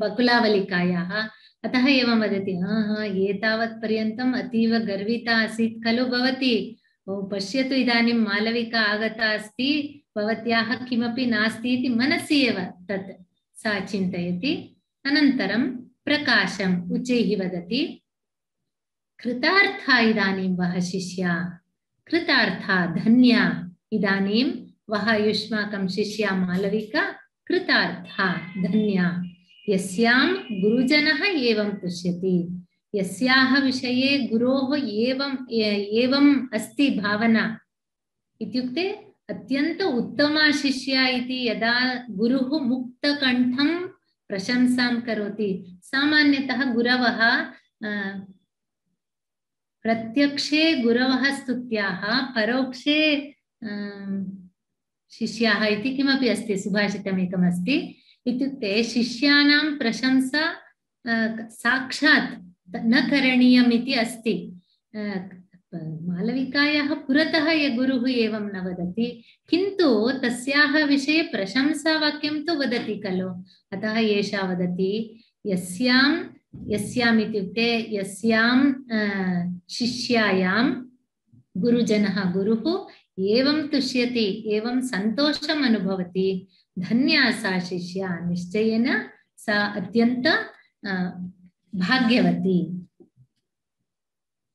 बकुलावलिकायाः। अतः एवं वदति, एतावत् पर्यन्तम् अतीव गर्विता आसीत् खलु भवती, पश्यतु इदानीं मालविका आगता अस्ति, भवत्याः किमपि नास्ति इति मनसि एव तत् सा चिन्तयति। अनन्तरं प्रकाशम् उच्चैः वदति, कृतार्था इदानीं वः शिष्या, कृतार्था धन्या इदानीं वः युष्माकं शिष्या मालविका कृतार्था धन्या, यस्यां गुरुजनः एवं पश्यति। यस्याः विषये गुरोः एवम् अस्ति भावना इत्युक्ते अत्यंत उत्तमा शिष्या इति यदा गुरुः मुक्तकण्ठं प्रशंसां करोति। सामान्यतः गुरवः प्रत्यक्षे गुरवः स्तुत्याः परोक्षे शिष्याः इति किमपि अस्ति, सुभाषितम् एकमस्ति। इत्युक्ते शिष्याणां प्रशंसा साक्षात् न करणीयम् इति अस्ति। मालविकायाः पुरतः गुरुः एवं न वदति, किन्तु तस्याः विषये प्रशंसावाक्यं तु वदति खलु। अतः एषा वदति यस्याम् इत्युक्ते यस्यां शिष्यायां गुरुजनः गुरुः एवं तुष्यति, एवं सन्तोषम् अनुभवति, धन्या सा शिष्या, निश्चयेन सा अत्यंत भाग्यवती।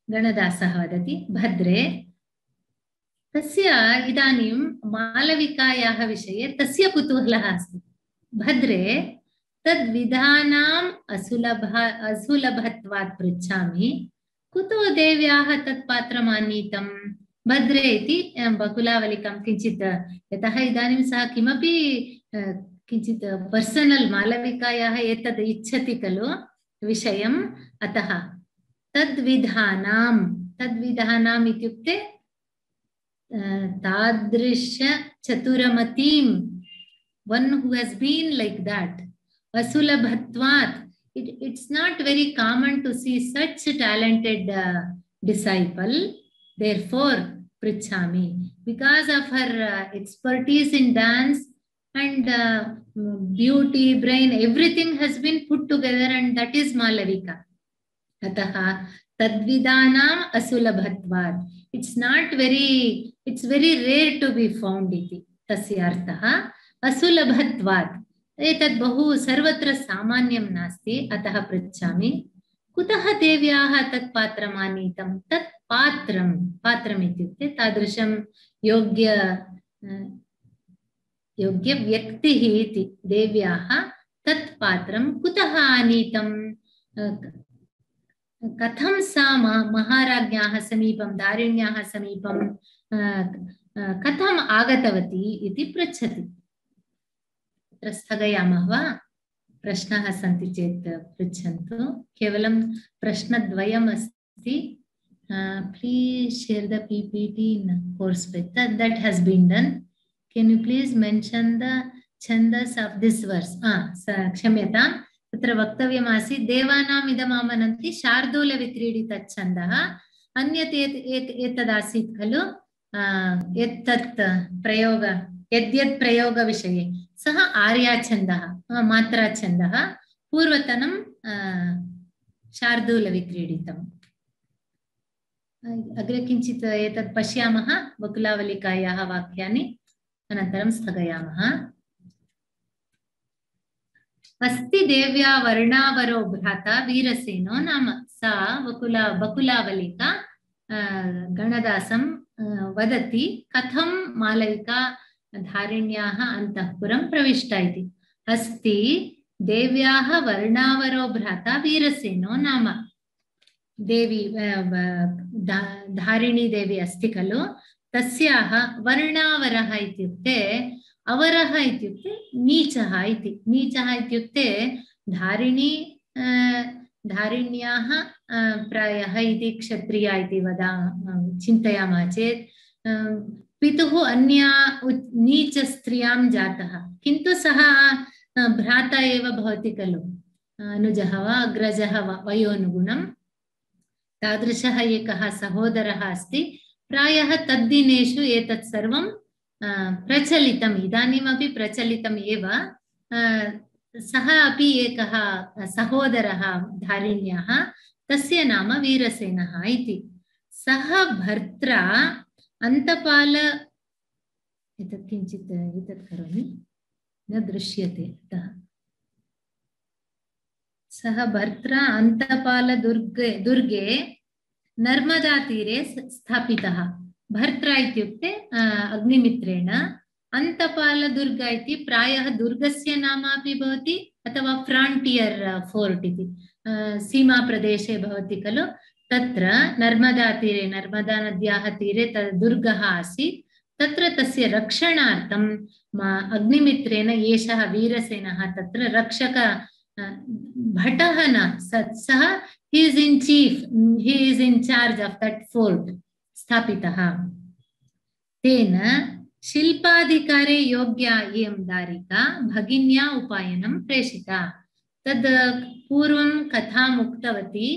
गणदासः वदति भद्रे तस्य इदानीं मालविकायाः विषये तस्य कुतूहलः अस्ति। भद्रे तद्विधानाम् असुलभत्वात् पृच्छामि, कुतो देव्याः तत्पात्रम् आनीतम्? भद्रे इति बकुलावलिकां किञ्चित्, यतः इदानीं सः किमपि किञ्चित् पर्सनल् मालविकायाः एतद् इच्छति खलु विषयम्, अतः तद्विधानाम् इत्युक्ते तादृश चतुरमतीं, one who has been like that, asulabhatvat, it's not very common to see such talented disciple, therefore prichhami, because of her expertise in dance and beauty, brain, everything has been put together, and that is Malavika. अतः तद्विदानाम् असुलभत्वात्, it's very rare to be found इति तस्य अर्थः। असुलभत्वात् एतद् बहु सर्वत्र सामान्यं नास्ति, अतः पृच्छामि कुतः देव्याः तत् पात्रम् आनीतं? तत् पात्रम् इत्युक्ते तादृशं योग्यव्यक्तिः इति। देव्याः तत् पात्रं कुतः आनीतं? कथं सा महाराज्ञ्याः समीपं, दारिण्याः समीपं कथम् आगतवती इति पृच्छति। तत्र स्थगयामः वा? प्रश्नाः सन्ति चेत् पृच्छन्तु। केवलं प्रश्नद्वयम् अस्ति। Please share the PPT in course page. That has been done. Can you please mention the chandas of this verse? क्षम्यताम्, तत्र वक्तव्यमासीत् देवानाम् इदमामनन्ति शार्दूलविक्रीडितच्छन्दः। अन्यत् एतदासीत् खलु एतत् प्रयोग, यद्यत् प्रयोगविषये सः आर्याच्छन्दः, मात्राच्छन्दः, पूर्वतनं शार्दूलविक्रीडितम्। अग्रे किञ्चित् एतत् पश्यामः, बकुलावलिकायाः वाक्यानि, अनन्तरं स्थगयामः। अस्ति देव्या वर्णावरो भ्राता वीरसेनो नाम। सा बकुलावलिका गणदासं वदति कथं मालविका धारिण्याः अन्तःपुरं प्रविष्टा इति। अस्ति देव्याः वर्णावरो भ्राता वीरसेनो नाम। देवी धारिणी देवी अस्ति खलु, तस्याः वर्णावरः इत्युक्ते, अवरः इत्युक्ते नीचः इति। नीचः इत्युक्ते धारिण्याः प्रायः इति क्षत्रिया इति चिन्तयामः चेत् पितुः अन्या नीचस्त्रियां जातः, किन्तु सः भ्राता एव भवति खलु, अनुजः वा अग्रजः वा वयोनुगुणं। तादृशः एकः सहोदरः अस्ति। प्रायः तद्दिनेषु एतत् सर्वं प्रचलितम्, इदानीमपि प्रचलितम् एव। सः अपि एकः सहोदरः धारिण्याः, तस्य नाम वीरसेनः इति। सः भर्त्रा अन्तपाल, एतत् किञ्चित् एतत् करोमि, न दृश्यते अतः। सः भर्त्रा अन्तपाल दुर्गे नर्मदा तीरे स्थापितः। भर्त्रा इत्युक्ते अग्निमित्रेण, अन्तपालदुर्ग इति प्रायः दुर्गस्य नाम अपि भवति, अथवा फ्रांटियर फोर्ट इति। सीमाप्रदेशे भवति खलु तत्र नर्मदातीरे नर्मदानद्याः तीरे दुर्गः आसीत् तत्र तस्य रक्षणार्थं अग्निमित्रेण एषः वीरसेनः तत्र रक्षक भटः न सः he is in chief, he is in charge of that fort स्थापितः तेन शिल्पाधिकारे योग्या इयं दारिका भगिन्या उपायनं प्रेषिता तद् पूर्वं कथाम् उक्तवती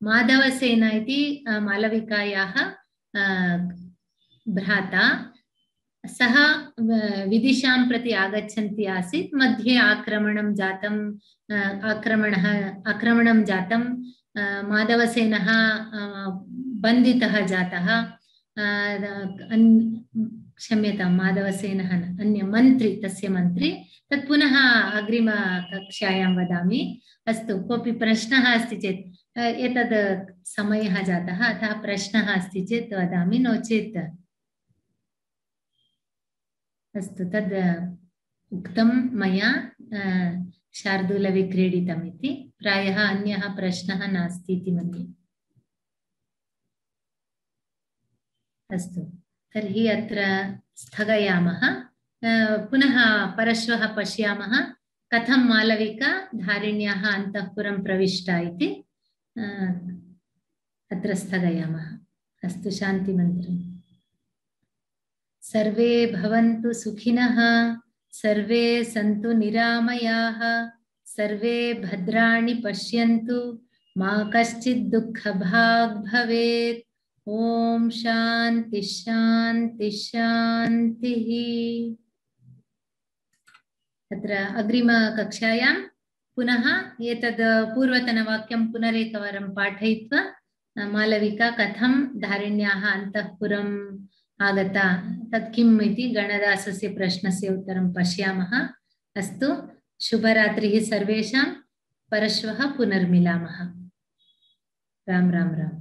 माधवसेन इति मालविकायाः भ्राता सः विदिशां प्रति आगच्छन्ती आसीत् मध्ये आक्रमणं जातं माधवसेनः बन्धितः जातः क्षम्यतां माधवसेनः अन्य मन्त्री तस्य मन्त्री तत् पुनः अग्रिमकक्षायां वदामि अस्तु कोऽपि प्रश्नः अस्ति चेत् एतद् समयः जातः अतः प्रश्नः अस्ति चेत् वदामि नो चेत् अस्तु तद् उक्तं मया शार्दूलविक्रीडितम् इति प्रायः अन्यः प्रश्नः नास्ति इति मन्ये अस्तु तर्हि अत्र स्थगयामः पुनः परश्वः पश्यामः कथं मालविका धारिण्याः अन्तःपुरं प्रविष्टा इति अत्र स्थगयामः अस्तु शान्तिमन्त्रम् सर्वे भवन्तु सुखिनः सर्वे सन्तु निरामयाः सर्वे भद्राणि पश्यन्तु मा कश्चित् दुःखभाग् भवेत् ओम शांति शांति शान्तिः अत्र अग्रिमकक्षायां पुनः एतद् पूर्वतनवाक्यं पुनरेकवारं पाठयित्वा मालविका कथं धारिण्याः अन्तःपुरम् आगता तत् किम् इति गणदासस्य प्रश्नस्य उत्तरं पश्यामः अस्तु शुभरात्रिः सर्वेषां परश्वः पुनर्मिलामः राम राम राम